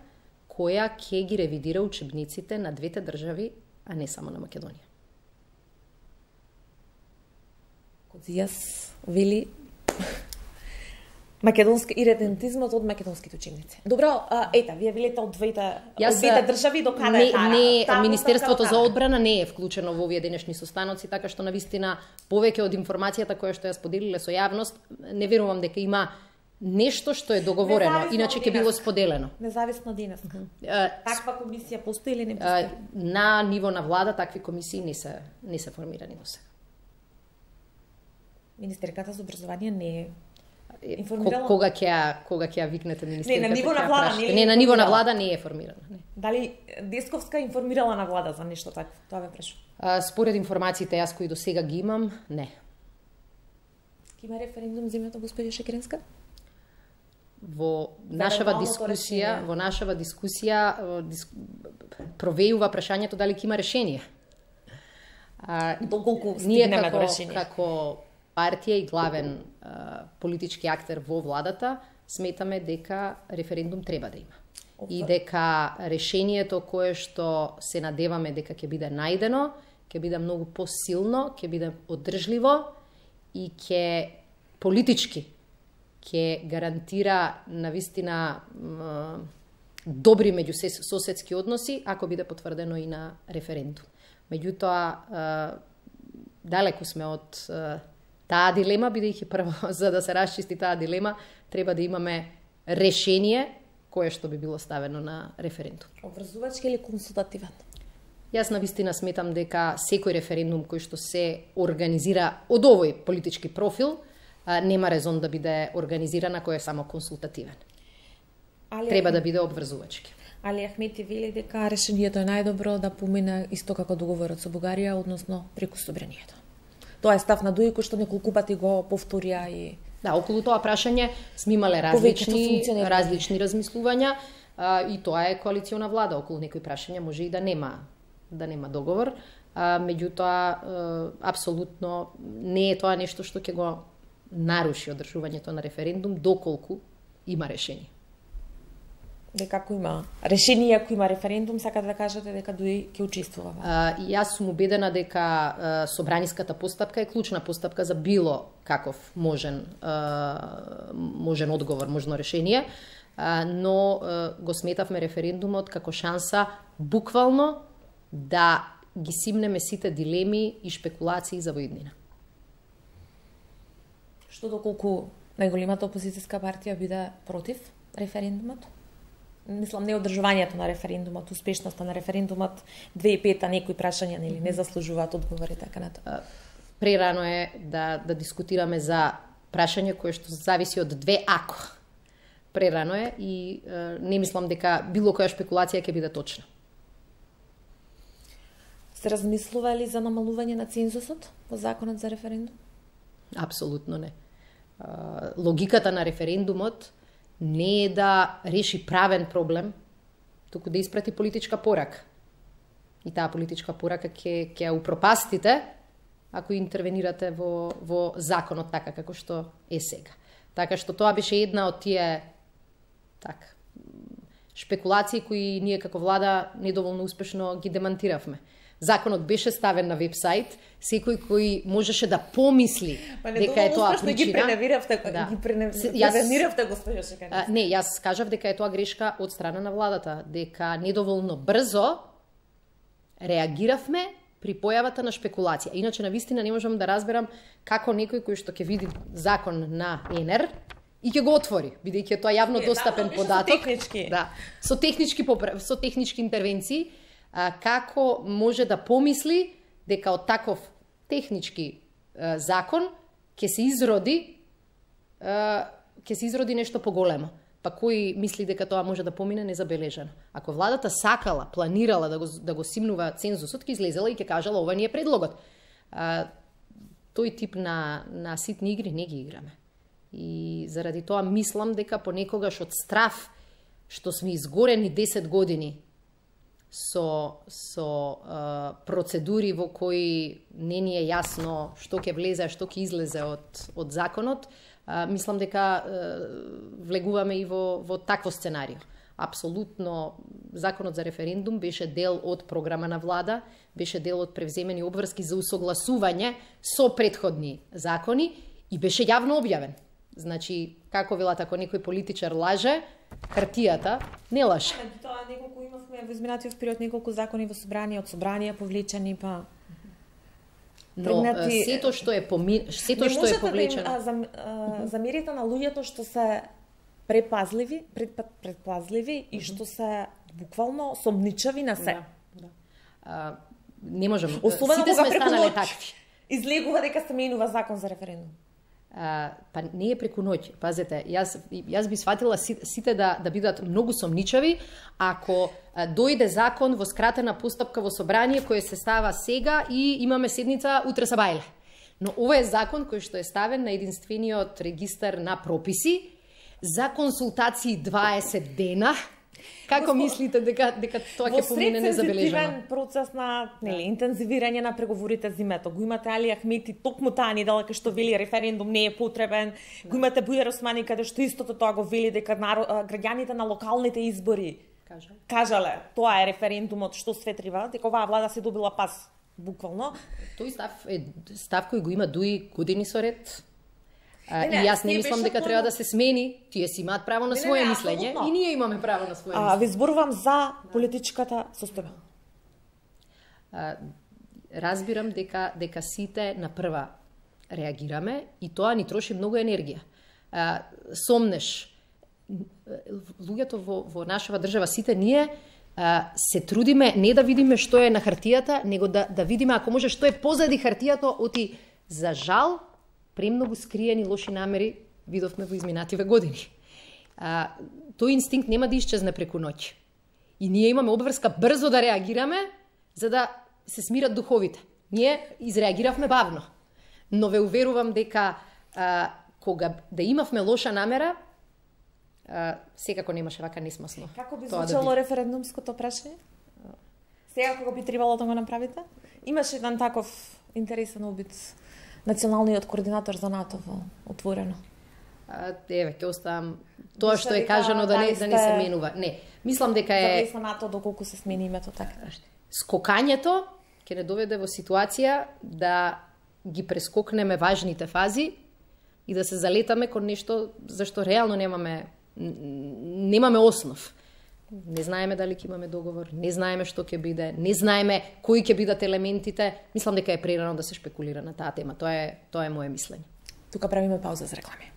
која ќе ги ревидира учебниците на двете држави, а не само на Македонија. Кодзијас вели македонски иредентизмот од македонските учебници. Добро, ета, вие велите од двете држави до каде е таа? Министерството за одбрана не е вклучено во овие денешни состаноци, така што навистина повеќе од информацијата која што ја споделиле со јавност, не верувам дека има нешто што е договорено, иначе ќе било споделено. Независно денес. Таква комисија постои или не постои? На ниво на влада такви комисии не се формирани до сега. Министерката за образование не е информирала? Кога ќе ја викнете министерката? Не, на ниво на влада не е. На ниво на влада не е формирана. Не. Дали Десковска информирала на влада за нешто такво? Тоа ве прашувам. Според информациите јас кои до сега ги имам, не. Има референдум земјата господи Шекеренска? Во нашава дискусија провејува прашањето дали ќе има решение. Доколку стигнеме до решение? Како партија и главен политички актер во владата, сметаме дека референдум треба да има. И дека решението кое што се надеваме дека ќе биде најдено, ќе биде многу посилно, ќе биде одржливо и ќе политички ќе гарантира навистина добри меѓусоседски односи ако биде потврдено и на референдум. Меѓутоа, далеку сме од таа дилема, бидејќи прво за да се расчисти таа дилема треба да имаме решение кое што би било ставено на референдум. Обврзувачки или консултативен? Јас навистина сметам дека секој референдум кој што се организира од овој политички профил нема резон да биде организиран ако е само консултативен. Треба да биде обврзувачки. Али Ахмети вели дека решението е најдобро да помине исто како договорот со Бугарија, односно преку собранието. Тоа е став на Дуи кој што неколку пати го повторија и да, околу тоа прашање сме имале различни размислувања и тоа е коалициона влада. Околу некои прашања може и да нема договор, меѓутоа апсолутно не е тоа нешто што ќе го наруши одржувањето на референдум доколку има решение. Дека ако има решение, ако има референдум, сакате да кажете дека Дуи ќе учествува? Јас сум убедена дека собраниската постапка е клучна постапка за било каков можен одговор, можно решение, но го сметавме референдумот како шанса буквално да ги симнеме сите дилеми и шпекулации за во иднина. Што доколку најголемата опозицијска партија биде против референдумот? Мислам, не одржувањето на референдумот, успешноста на референдумот, 2005-та некои прашања не заслужуваат одговори така на тоа. Прерано е да дискутираме за прашање кое што зависи од две ако. Прерано е и не мислам дека било која шпекулација ќе биде точна. Сте размислували за намалување на цензусот во законот за референдум? Апсолутно не. Логиката на референдумот не е да реши правен проблем, туку да испрати политичка порака. И таа политичка порака ќе ја упропастите ако интервенирате во законот така како што е сега. Така што тоа беше една од тие шпекулации кои ние како влада недоволно успешно ги демантиравме. Законот беше ставен на вебсайт, секој кој можеше да помисли дека е тоа причина. Ги преневиравте, госпожа Шекарица. Не, јас кажав дека е тоа грешка од страна на владата, дека недоволно брзо реагиравме при појавата на шпекулација. Иначе навистина не можам да разберам како некој кој што ќе види закон на ЕНЕР и ќе го отвори, бидејќи е тоа јавно достапен податок. Со технички интервенции, како може да помисли дека од таков технички закон ќе се изроди нешто поголемо. Па кој мисли дека тоа може да помине незабележано? Ако владата сакала, планирала да го симнува цензусот, ќе излезела и ќе кажала ова не е предлогот. Тој тип на ситни игри не ги играме. И заради тоа мислам дека понекогаш од страф што сме изгорени 10 години со процедури во кои не ни е јасно што ќе влезе, што ќе излезе од законот, мислам дека влегуваме и во такво сценарио. Апсолутно, законот за референдум беше дел од програма на влада, беше дел од превземени обврски за усогласување со претходни закони и беше јавно објавен. Значи, како велат, ако некој политичар лаже, хартијата не лаже. Тоа неколку имавме во изминатиот период неколку закони во собрание, од собрание повлечени, па но сето што е повлечено. Замерите на луѓето што се предпазливи и што се буквално сомничави на се. Не можам. Особено кога преку ноќ излегува дека се менува закон за референдум. Па не е преку ноќ. Пазете, јас би сватила сите да бидат многу сомничави ако дојде закон во скратена постапка во собрание кој се става сега и имаме седница утре сабајле. Но ова е закон кој што е ставен на единствениот регистар на прописи за консултации 20 дена. Како мислите дека тоа ќе помине незабележано? Во сред процес на интензивирање на преговорите зимето. Го имате Али Ахмети токму таа недела кај што вели референдум не е потребен. Го имате Бујар Османи каде што истото тоа го вели дека граѓаните на локалните избори кажале тоа е референдумот што светрива, дека оваа влада се добила пас буквално. Тој став кој го има Дуи години со ред. И јас не мислам дека треба да се смени, тие си имаат право на свое мислење и ние имаме право на свое мислење. Ви зборувам за политичката состојба. разбирам дека сите на прва реагираме и тоа ни троши многу енергија. Сомнеш, луѓето во нашава држава, сите ние се трудиме не да видиме што е на хартијата, него да видиме, ако може, што е позади хартијата, оти за жал премногу скриени лоши намери видовме во изминативе години. Тој инстинкт нема да исчезне преку ноќ. И ние имаме обврска брзо да реагираме, за да се смират духовите. Ние изреагиравме бавно. Но ве уверувам дека кога да имавме лоша намера, секако немаше вака несмасно. Како би звучало референдумското прашање? Сега кога би требало да го направите? Имаше еден таков интересен обид националниот координатор за НАТО во Отворено. Еве, ќе оставам тоа што е кажано да не се менува. Не, мислам дека е за НАТО доколку се смени името така. Скокањето ќе не доведе во ситуација да ги прескокнеме важните фази и да се залетаме кон нешто за што реално немаме основ. Не знаеме дали ќе имаме договор, не знаеме што ќе биде, не знаеме кои ќе бидат елементите. Мислам дека е прерано да се шпекулира на таа тема. Тоа е моje мислење. Тука правиме пауза за реклами.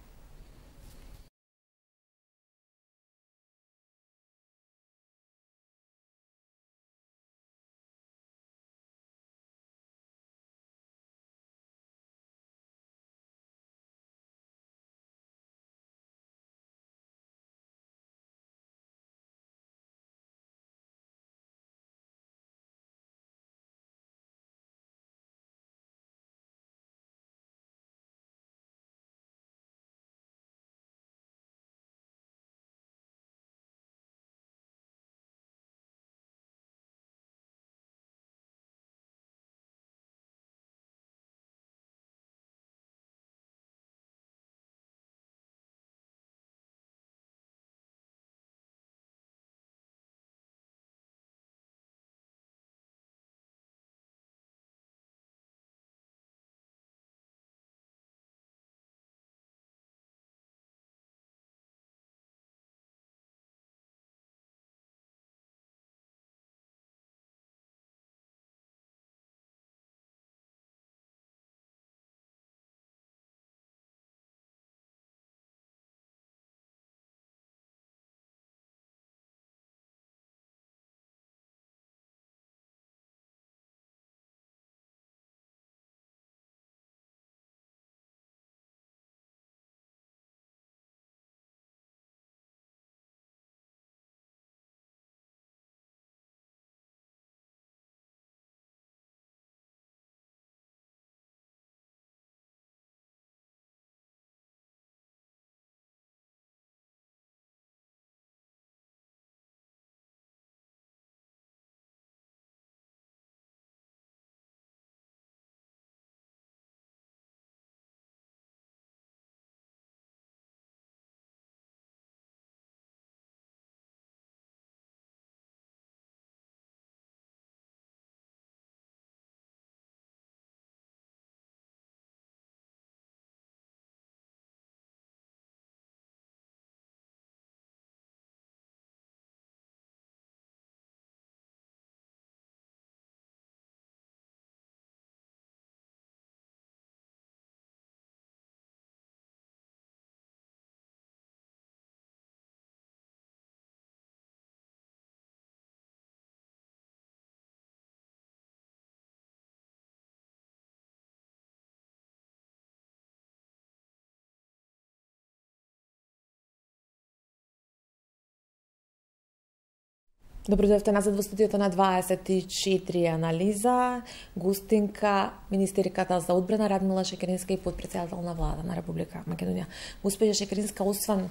Добродојавте назад во студиото на 24 анализа. Гостинка, министерката за одбрана Радмила Шекеринска и подпредседател на влада на Република Македонија. Госпожа Шекеринска, освен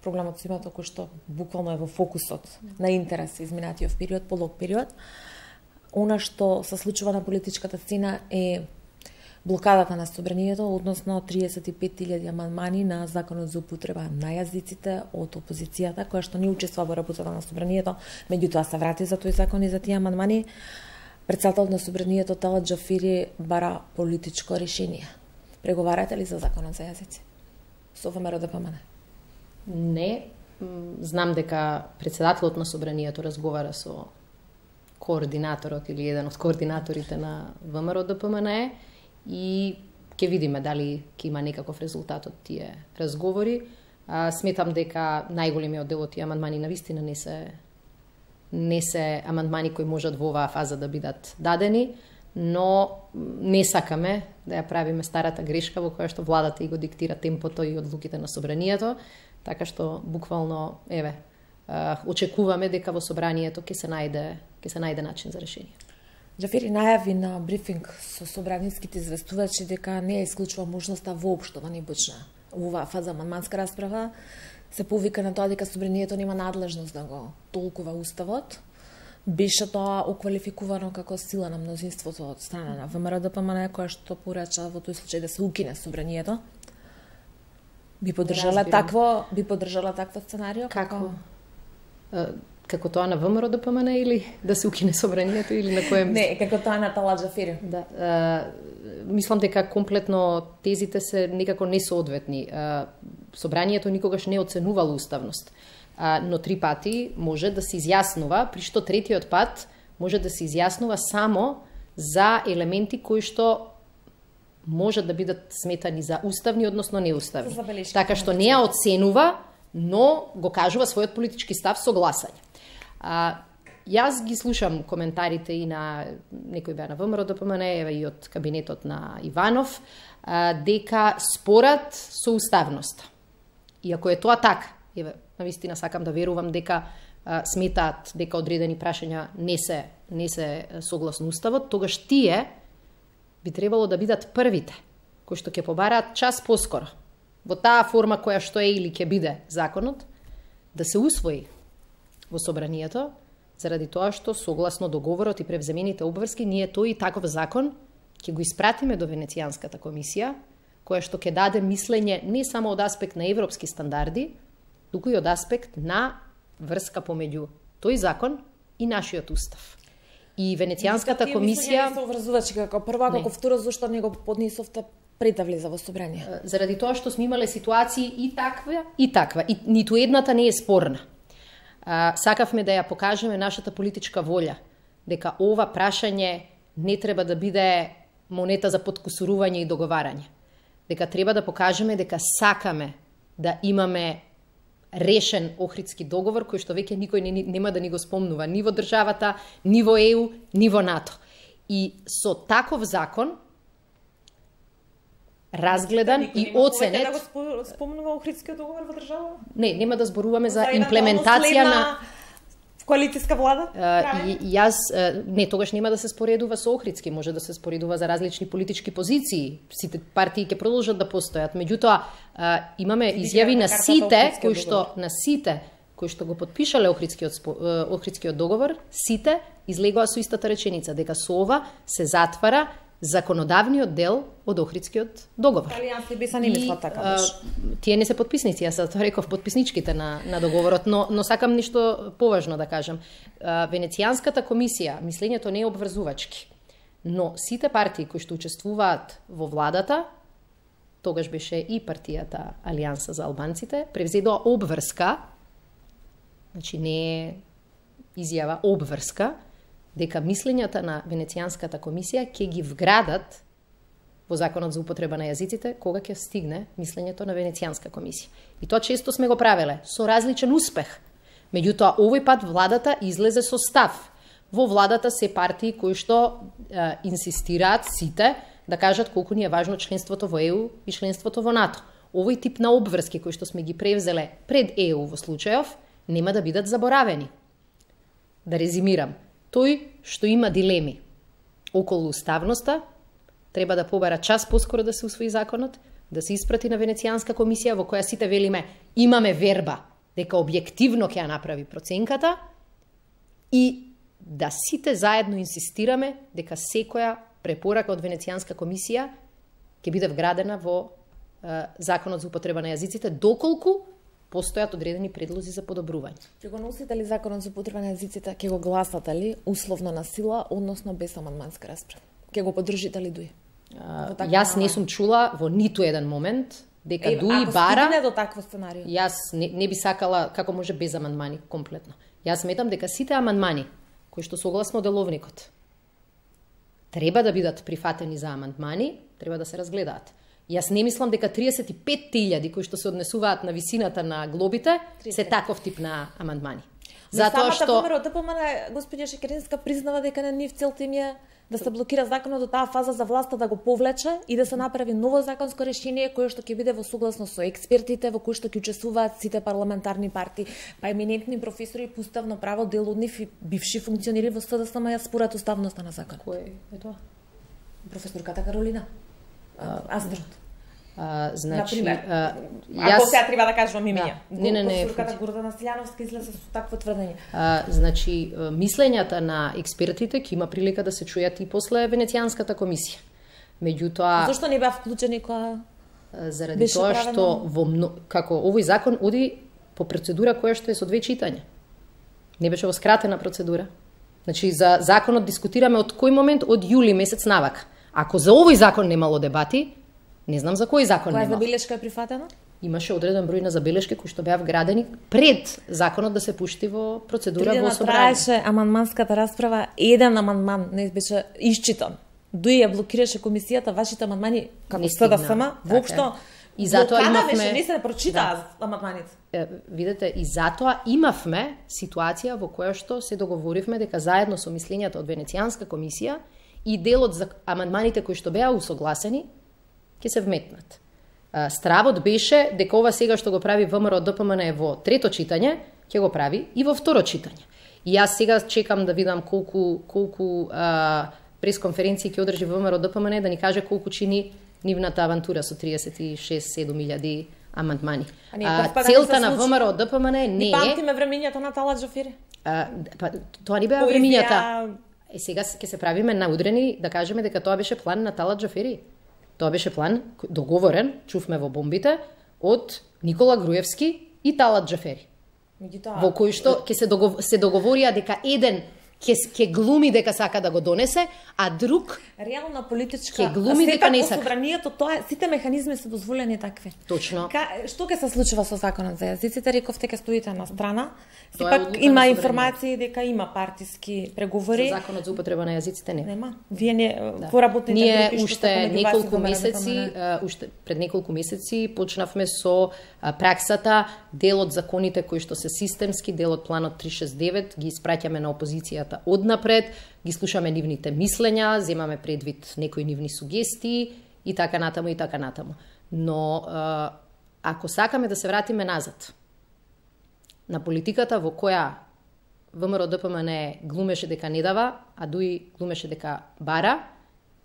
проблемот со името кој што буквално е во фокусот на интерес изминатиот период, полог период, она што се случува на политичката сцена е блокадата на собранието, односно 35.000 амандмани на законот за употреба на јазиците од опозицијата, која што не учествува во работата на собранието, меѓутоа се врати за тој закон и за тие амандмани. Председателот на собранието Талат Џафери бара политичко решение. Преговарате ли за законот за јазици со ВМРО ДПМН? Не, знам дека председателот на собранието разговара со координаторот или еден од координаторите на ВМРО ДПМНЕ и ќе видиме дали ќе има некаков резултат од тие разговори. Сметам дека најголемиот дел од тие амандмани навистина не се амандмани кои можат во оваа фаза да бидат дадени, но не сакаме да ја правиме старата грешка во која што владата и го диктира темпото и одлуките на собранието, така што буквално очекуваме дека во собранието ќе се најде начин за решение. Џафери најави на брифинг со собраниските известувачи дека не е исклучува можноста воопшто да не почне оваа фаза амандманска расправа. Се повика на тоа дека собранието нема надлежност да го толкува уставот. Беше тоа оквалификувано како сила на мнозинството од страна на ВМРО ДПМНЕ, која што порача во тој случај да се укине собранието. Би поддржала такво сценарио? Како тоа на ВМРО ДПМНЕ или да се укине собранието или на кое место? Не, како тоа на Талат Џафери. Да, мислам дека комплетно тезите се некако несоодветни. Собранието никогаш не оценувало уставност, но 3 пати може да се изјаснува, при што третиот пат може да се изјаснува само за елементи кои што може да бидат сметани за уставни, односно неуставни. Така што не ја оценува, но го кажува својот политички став со гласање. Јас ги слушам коментарите и на некои беа на ВМРО ДПМНЕ и од кабинетот на Иванов, дека спорат со уставноста. И ако е тоа така, навистина сакам да верувам дека сметаат дека одредени прашања не се согласно уставот, тогаш тие би требало да бидат првите кои што ќе побараат час поскоро во таа форма која што е или ќе биде законот да се усвои во собранието, заради тоа што согласно договорот и превземените обврски ние тој и таков закон ќе го испратиме до Венецијанската комисија, која што ќе даде мислење не само од аспект на европски стандарди, туку и од аспект на врска помеѓу тој закон и нашиот устав. И Венецијанската комисија не се обврзувачи како прва, како второ, зашто не го поднесовте пред да влезе во собрание? Заради тоа што сме имале ситуации и таква, и ниту едната не е спорна. Сакавме да ја покажеме нашата политичка волја, дека ова прашање не треба да биде монета за подкусурување и договарање. Дека треба да покажеме дека сакаме да имаме решен Охридски договор, кој што веќе никој нема да ни го спомнува, ни во државата, ни во ЕУ, ни во НАТО. И со таков закон, разгледан и оценет... Да го спомнува Охридскиот договор во држава? Не, нема да зборуваме за имплементација на... коалицијска влада? Не, тогаш нема да се споредува со Охридски, може да се споредува за различни политички позиции. Сите партии ќе продолжат да постојат. Меѓутоа, имаме изјави на сите кои што го подпишале Охридскиот договор, сите излегоа со истата реченица, дека со ова се затвара законодавниот дел од Охридскиот договор. Алијанси би се не мислат така. Тие не се подписници, јас тоа реков подписничките на договорот, но сакам нешто поважно да кажам. Венецијанската комисија, мислењето не е обврзувачки, но сите партии кои што учествуваат во владата, тогаш беше и партијата Алијанса за албанците, превзедоа обврска, значи не е изјава, обврска, дека мислењата на Венецијанската комисија ќе ги вградат во Законот за употреба на јазиците кога ќе стигне мислењето на Венецијанска комисија. И тоа често сме го правеле со различен успех. Меѓутоа, овој пат владата излезе со став. Во владата се партии кои што инсистираат сите да кажат колку ни е важно членството во ЕУ и членството во НАТО. Овој тип на обврски кои што сме ги превзеле пред ЕУ во случајов нема да бидат заборавени. Да резимирам. Тој што има дилеми околу уставноста, треба да побара час поскоро да се усвои законот, да се испрати на Венецијанска комисија во која сите велиме имаме верба дека објективно ќе ја направи проценката и да сите заедно инсистираме дека секоја препорака од Венецијанска комисија ќе биде вградена во Законот за употреба на јазиците, доколку постојат одредени предлози за подобрување. Ќе го носите ли Законот за употреба на јазиците, ќе го гласате ли условно на сила, односно без амандманска расправа? Ќе го поддржите ли Дуи? Јас не сум чула во ниту еден момент дека Дуи бара... Ако стигне до такво сценарио? Јас не би сакала како може без амандмани комплетно. Јас сметам дека сите амандмани кои што согласно деловникот треба да бидат прифатени за амандмани, треба да се разгледаат. Јас не мислам дека 35.000 кои што се однесуваат на висината на глобите се таков тип на амандмани. Затоа што ВМРО ДПМН господја Шекеринска признава дека на нив целта им е да се блокира законот до таа фаза за власта да го повлече и да се направи ново законско решение кое што ќе биде во согласно со експертите во кои што ќе учествуваат сите парламентарни партии, па еминентни професори по уставно право, дел од нив и бивши функционери во СДСМ според уставноста на закон. Кој е тоа? Професорката Каролина Аздрот. Значи, ако сега треба да кажувам имења. Не. Професорката Гордана Силјановска излезе со такво тврдење. Значи, мислењата на експертите ќе има прилика да се чујат и после Венецијанската комисија. Меѓутоа, зошто не беа вклучени кога заради тоа што како овој закон оди по процедура која што е со 2 читања. Не беше во скратена процедура. Значи, за законот дискутираме од кој момент? Од јули месец навака. Ако за овој закон немало дебати, не знам за кој закон немало. Која забелешка е прифатена? Имаше одреден број на забелешки кои што беа вградени пред законот да се пушти во процедура во собрание. Траеше амандманската расправа, еден амандман не беше исчитан. Дуи ја блокираше комисијата, вашите амандмани како СДСМ воопшто и затоа имавме не се прочитаа амандманите. Видете, и затоа имавме ситуација во која што се договоривме дека заедно со мислењата од Венецијанска комисија и делот за амандманите кои што беа усогласени ќе се вметнат. Стравот беше дека ова сега што го прави ВМРО ДПМН во 3-то читање, ќе го прави и во 2-ро читање. И јас сега чекам да видам колку пресконференции ќе одржи ВМРО ДПМН да ни каже колку чини нивната авантура со 36.000 амандмани. Целта на ВМРО ДПМН не е... Памтиме времењата на Талат Джафери. Тоа не беа времењата. Сега ќе се правиме наудрени да кажеме дека тоа беше план на Талат Джафери. Тоа беше план договорен, чувме во бомбите, од Никола Груевски и Талат Джафери. Во кој што ќе се договорија дека еден ќе глуми дека сака да го донесе, а друг реално политичка ќе глуми дека не сака. Собранието, тоа сите механизми се дозволени такви. Точно. Што ќе се случува со законот за јазиците? Рековте ќе стоите на страна. Сепак има информации дека има партиски преговори. За законот за употреба на јазиците не. Нема. Вие не поработните ние уште неколку месеци, пред неколку месеци почнавме со праксата, дел од законите кои што се системски, дел од планот 369 ги испраќаме на опозицијата однапред, ги слушаме нивните мислења, земаме предвид некои нивни сугестии и така натаму и така натаму. Но ако сакаме да се вратиме назад на политиката во која ВМРО ДПМН глумеше дека не дава, а Дуи глумеше дека бара,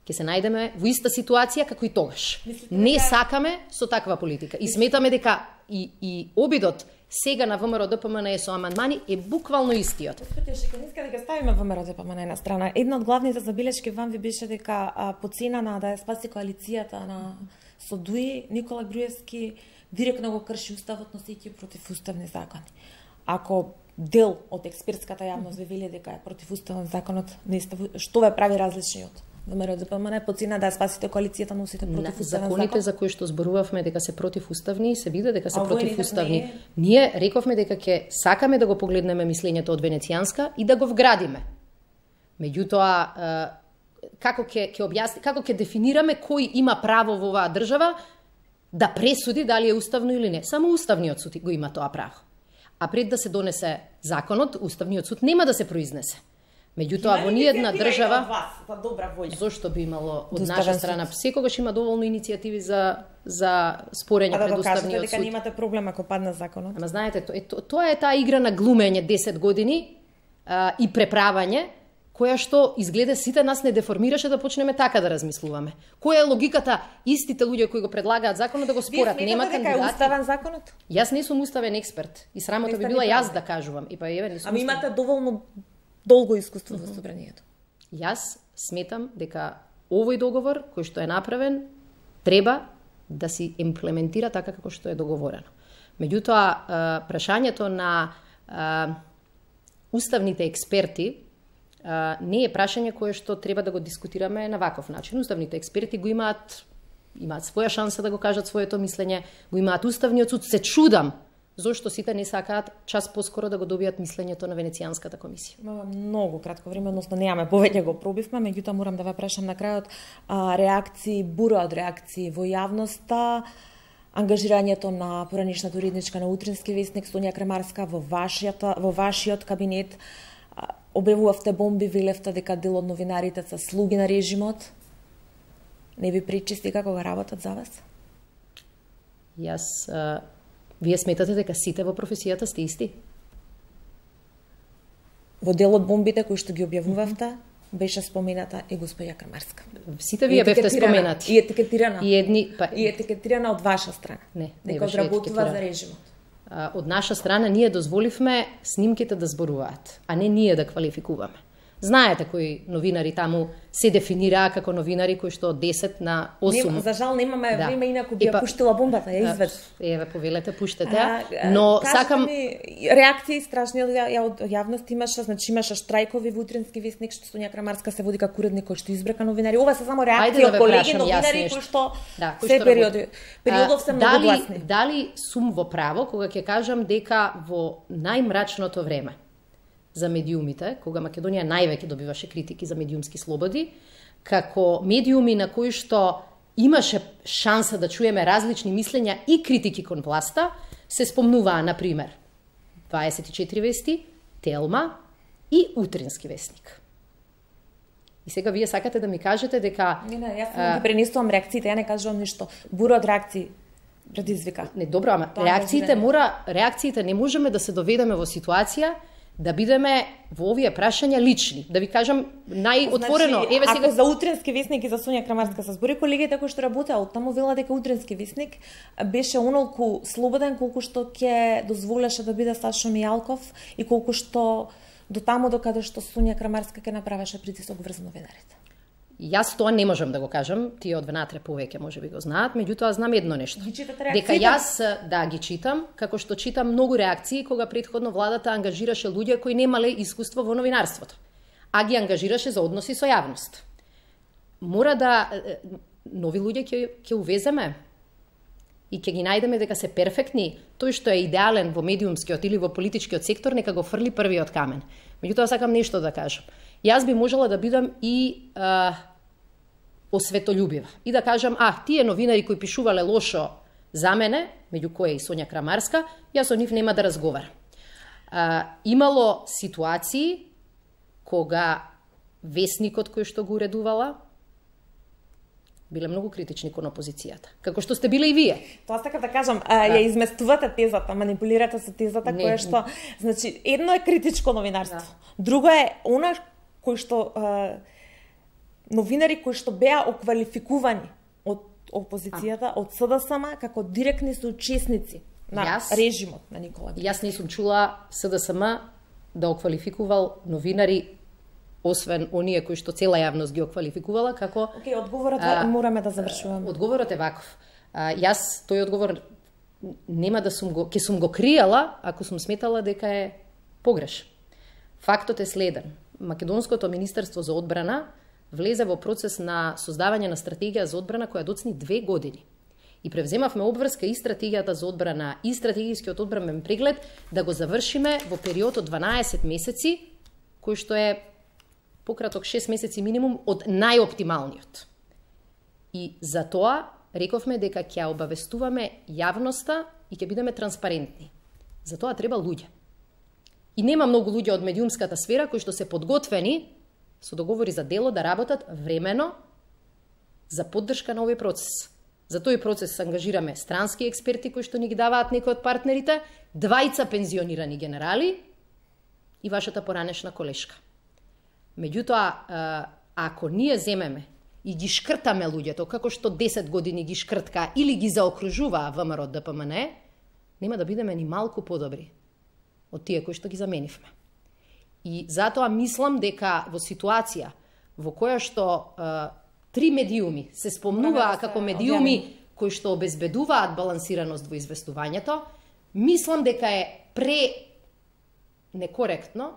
ќе се најдеме во иста ситуација како и тогаш. Не сакаме со таква политика и сметаме дека и обидот сега на ВМРО ДПМН со амандмани е буквално истиот. Господи Шекеринска, дека ставиме ВМРО ДПМН на страна. Една од главните забелешки вам ви беше дека по цена на да ја спаси коалицијата на со Дуи, Никола Груевски директно го крши уставот, носејќи противуставни закони. Ако дел од експертската јавност ви вели дека е противуставен законот, што ве прави различни од ВМРО ДПМН по цена да ја спасите коалицијата, носите противуставен закон? Законите за кои што зборувавме дека се противуставни, се види дека се противуставни. Ние рековме дека ќе сакаме да го погледнеме мислењето од Венецијанска и да го вградиме. Меѓутоа, како ќе дефинираме кој има право во оваа држава да пресуди дали е уставно или не? Само Уставниот суд го има тоа право. А пред да се донесе законот, Уставниот суд нема да се произнесе. Меѓутоа, во ниедна држава, зошто би имало од наша страна, секогаш има доволно иницијативи за спорење пред Уставниот суд. Дека немате проблем ако падне законот. Ама знаете, тоа е таа игра на глумење 10 години и преправање, која што изгледа сите нас не деформираше да почнеме така да размислуваме. Која е логиката истите луѓе кои го предлагаат законот да го спорат? Нема кандидати. Вие сметате дека е уставен законот? Јас не сум уставен експерт и срамота би била јас да кажувам. И па еве не сум. Ами имате доволно долго искуство во собранието. Јас сметам дека овој договор кој што е направен треба да се имплементира така како што е договорено. Меѓутоа, прашањето на уставните експерти не е прашање кое што треба да го дискутираме на ваков начин. Уставните експерти го имаат своја шанса да го кажат своето мислење, го имаат Уставниот суд. Се чудам зошто сите не сакаат час поскоро да го добијат мислењето на Венецијанската комисија. Многу кратко време, односно немаме повеќе го пробивме, меѓутоа морам да ве прашам на крајот реакции, бура од реакции во јавноста, ангажирањето на поранишната уредничка на Утрински весник Сонја Крамарска во вашиот кабинет, објавувавте бомби, велевте дека дел од новинарите се слуги на режимот. Не ви причисти како го работат за вас? Вие сметате дека сите во професијата сте исти? Во дел од бомбите кои што ги објавувавте, беше спомената и госпоѓа Крамарска. Сите вие бевте споменати. И етикетирана. И етикетирана од ваша страна. Не дека беше работува за режимот. Од наша страна ние дозволивме снимките да зборуваат, а не ние да квалификуваме. Знаете кои новинари таму се дефинираа како новинари кои што од 10 на 8. За жал немаме време, инаку би ја пуштила бомбата, ја извед. Еве, повелете, пуштете. Но сакам реакции страшни од јавност имаше, значи имаше штрајкови во Утрински весник што Сонја Крамарска се води како уредник кој што избрака новинари. Ова се само реакции од колеги новинари кои што се периодов се многу гласни. Дали сум во право кога ќе кажам дека во најмрачното време за медиумите, кога Македонија највеќе добиваше критики за медиумски слободи, како медиуми на кои што имаше шанса да чуеме различни мислења и критики кон власта, се спомнуваа, например, 24 вести, Телма и Утрински весник. И сега вие сакате да ми кажете дека... Не, јас ги пренесувам реакциите, ја не кажувам ништо. Бура од реакции предизвика. Не, добро, ама реакциите не можеме да се доведеме во ситуација да бидеме во овие прашања лични. Да ви кажам најотворено, значи, еве сега ако за Утрински весник и за Сонја Крамарска се збори, колегите кои што работеа оттаму велат дека Утрински весник беше онолку слободен колку што ќе дозволеше да биде Сашо Мијалков и колку што до таму докаде што Сонја Крамарска ќе направеше притисок врз новинарите. Јас тоа не можам да го кажам, тие од внатре повеќе можеби го знаат, меѓутоа знам едно нешто. Ги читате дека јас ги читам, како што читам многу реакции кога претходно владата ангажираше луѓе кои немале искуство во новинарството, а ги ангажираше за односи со јавност. Мора да нови луѓе ќе увеземе и ќе ги најдеме дека се перфектни. Тој што е идеален во медиумскиот или во политичкиот сектор нека го фрли првиот камен. Меѓутоа сакам нешто да кажам. Јас би можела да бидам и осветољубива и да кажам, тие новинари кои пишувале лошо за мене, меѓу кои и Сонја Крамарска, јас со нив нема да разговарам. Имало ситуации кога весникот кој што го уредувала биле многу критични кон опозицијата, како што сте биле и вие. Тоа сакам да кажам, ја изместувате тезата, манипулирате со тезата која што, значи, едно е критичко новинарство, друго е она кој што новинари кои што беа оквалификувани од опозицијата, од СДСМ како директни соучесници на режимот на Никола. Јас не сум чула СДСМ да оквалификувал новинари освен оние кои што цела јавност ги оквалификувала како... Одговорот мораме да завршуваме. Одговорот е ваков. Јас тој одговор нема да ќе сум го кријала ако сум сметала дека е погрешен. Фактот е следен. Македонското Министерство за одбрана влезе во процес на создавање на стратегија за одбрана која доцни 2 години. И превземавме обврска и стратегијата за одбрана и стратегискиот одбранен преглед да го завршиме во период од 12 месеци, кој што е пократок 6 месеци минимум од најоптималниот. И за тоа рековме дека ќе обавестуваме јавноста и ќе бидеме транспарентни. За тоа треба луѓе. И нема многу луѓе од медиумската сфера кои што се подготвени со договори за дело да работат времено за поддршка на овој процес. За тој процес ангажираме странски експерти кои што ни ги даваат некои од партнерите, 2 пензионирани генерали и вашата поранешна колешка. Меѓутоа, ако ние земеме и ги шкртаме луѓето, како што 10 години ги шкртка или ги заокружува ВМРО ДПМН, нема да бидеме ни малку подобри од тие кои што ги заменивме. И затоа мислам дека во ситуација во која што 3 медиуми се спомнуваа како медиуми кои што обезбедуваат балансираност во известувањето, мислам дека е некоректно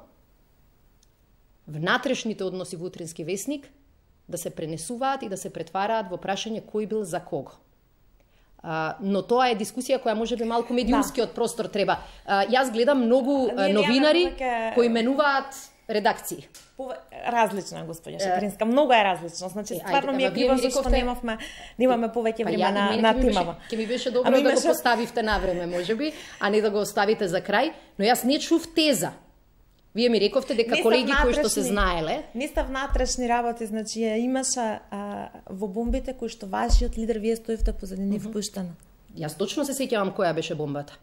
внатрешните односи во Утрински весник да се пренесуваат и да се претвараат во прашање кој бил за кого. Но тоа е дискусија која може би малку медиумскиот простор треба. Јас гледам многу новинари кои менуваат редакции. Различна, господја Шекеринска, многу е различно. Значи стварно ми е криво зашто немаме повеќе време на темава. Ќе ми беше добро да го поставивте на време, можеби, а не да го оставите за крај, но јас не чув теза. Вие ми рековте дека колеги кои што се знаеле, не став внатрешни работи, значи имаше во бомбите кои што вашиот лидер вие стоевте позади нив пуштана. Јас точно се сеќавам која беше бомбата.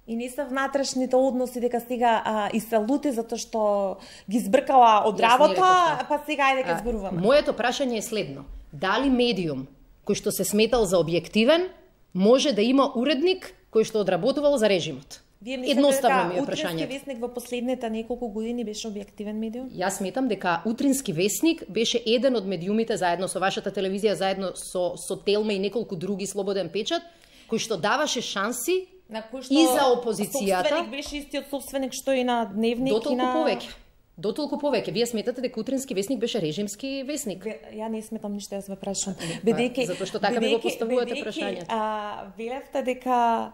И не се внатрешните односи дека сега и се лути затоа што ги збркала од работа, па сега ајде дека зборуваме. Моето прашање е следно. Дали медиум кој што се сметал за објективен може да има уредник кој што одработувал за режимот? Едноставно ми е прашањето. Утрински весник во последните неколку години беше објективен медиум? Јас сметам дека Утрински весник беше еден од медиумите заедно со вашата телевизија, заедно со Телма и неколку други слободен печат, кој што даваше шанси и за опозицијата. Собственик беше истиот собственик што и на Дневник и на... Дотолку повеќе. Вие сметате дека Утрински весник беше режимски весник? Ја не сметам ништо, јас ве прашам. Затоа што така ми го поставувате прашањето. Велевте дека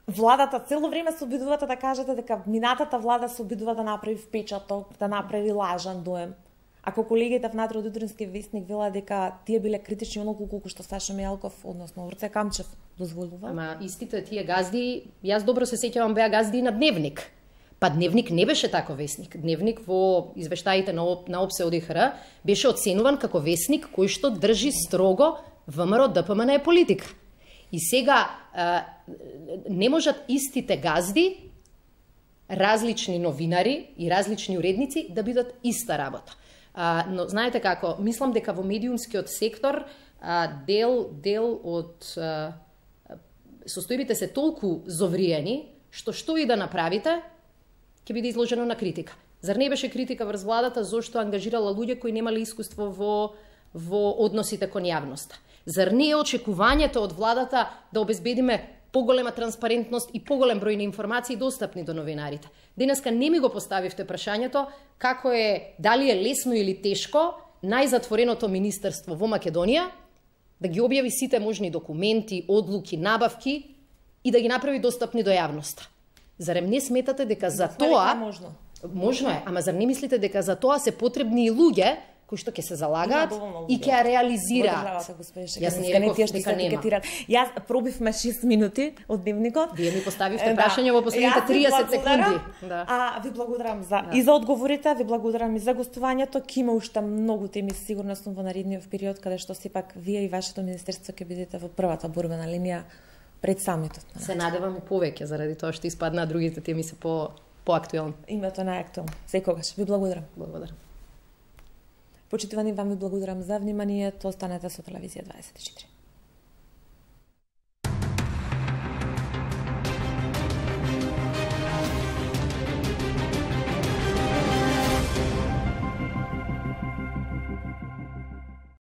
владата цело време се обидувате да кажете дека минатата влада се обидува да направи впечаток, да направи лажан доем. Ако колегите внатре од Утрински весник велат дека тие биле критични онолку колку што Саша Мејалков, односно Орце Камчев, дозволува. Ама истите тие газди, јас добро се сеќавам, беа газди на Дневник. Па Дневник не беше тако весник. Дневник во извештаите на ОПСЕ ОДИХР беше оценуван како весник кој што држи строго ВМРО ДПМН е политика. И сега не можат истите газди, различни новинари и различни уредници да бидат иста работа. Но знаете како, мислам дека во медиумскиот сектор дел од состојбите се толку зовриени што и да направите ќе биде изложено на критика. Зар не беше критика врз владата зошто ангажирала луѓе кои немале искуство во односите кон јавноста? Зар не е очекувањето од владата да обезбедиме поголема транспарентност и поголем број на информации достапни до новинарите? Денеска не ми го поставивте прашањето како е, дали е лесно или тешко најзатвореното министерство во Македонија да ги објави сите можни документи, одлуки, набавки и да ги направи достапни до јавноста. Зарем не сметате дека за тоа... Можно е, ама зар не мислите дека за тоа се потребни и луѓе кои што ќе се залагаат и ќе ја реализираат? Јас не реков дека нема. Јас пробивме 6 минути од Дневникот. Вие ми поставивте прашање во последните 30 секунди. Ви благодарам и за одговорите, ви благодарам и за гостувањето. Ќе има уште многу теми, сигурно сум во наредниот период, каде што сепак вие и вашето министерство ќе бидете во првата борбена линија пред самитот. Се надевам и повеќе, заради тоа што испаднаа другите теми се поактуелни. Името најактуелно. Секогаш. Ви благодарам. Благодарам. Почитувани, вам ви благодарам за вниманието. Останете со Телевизија 24.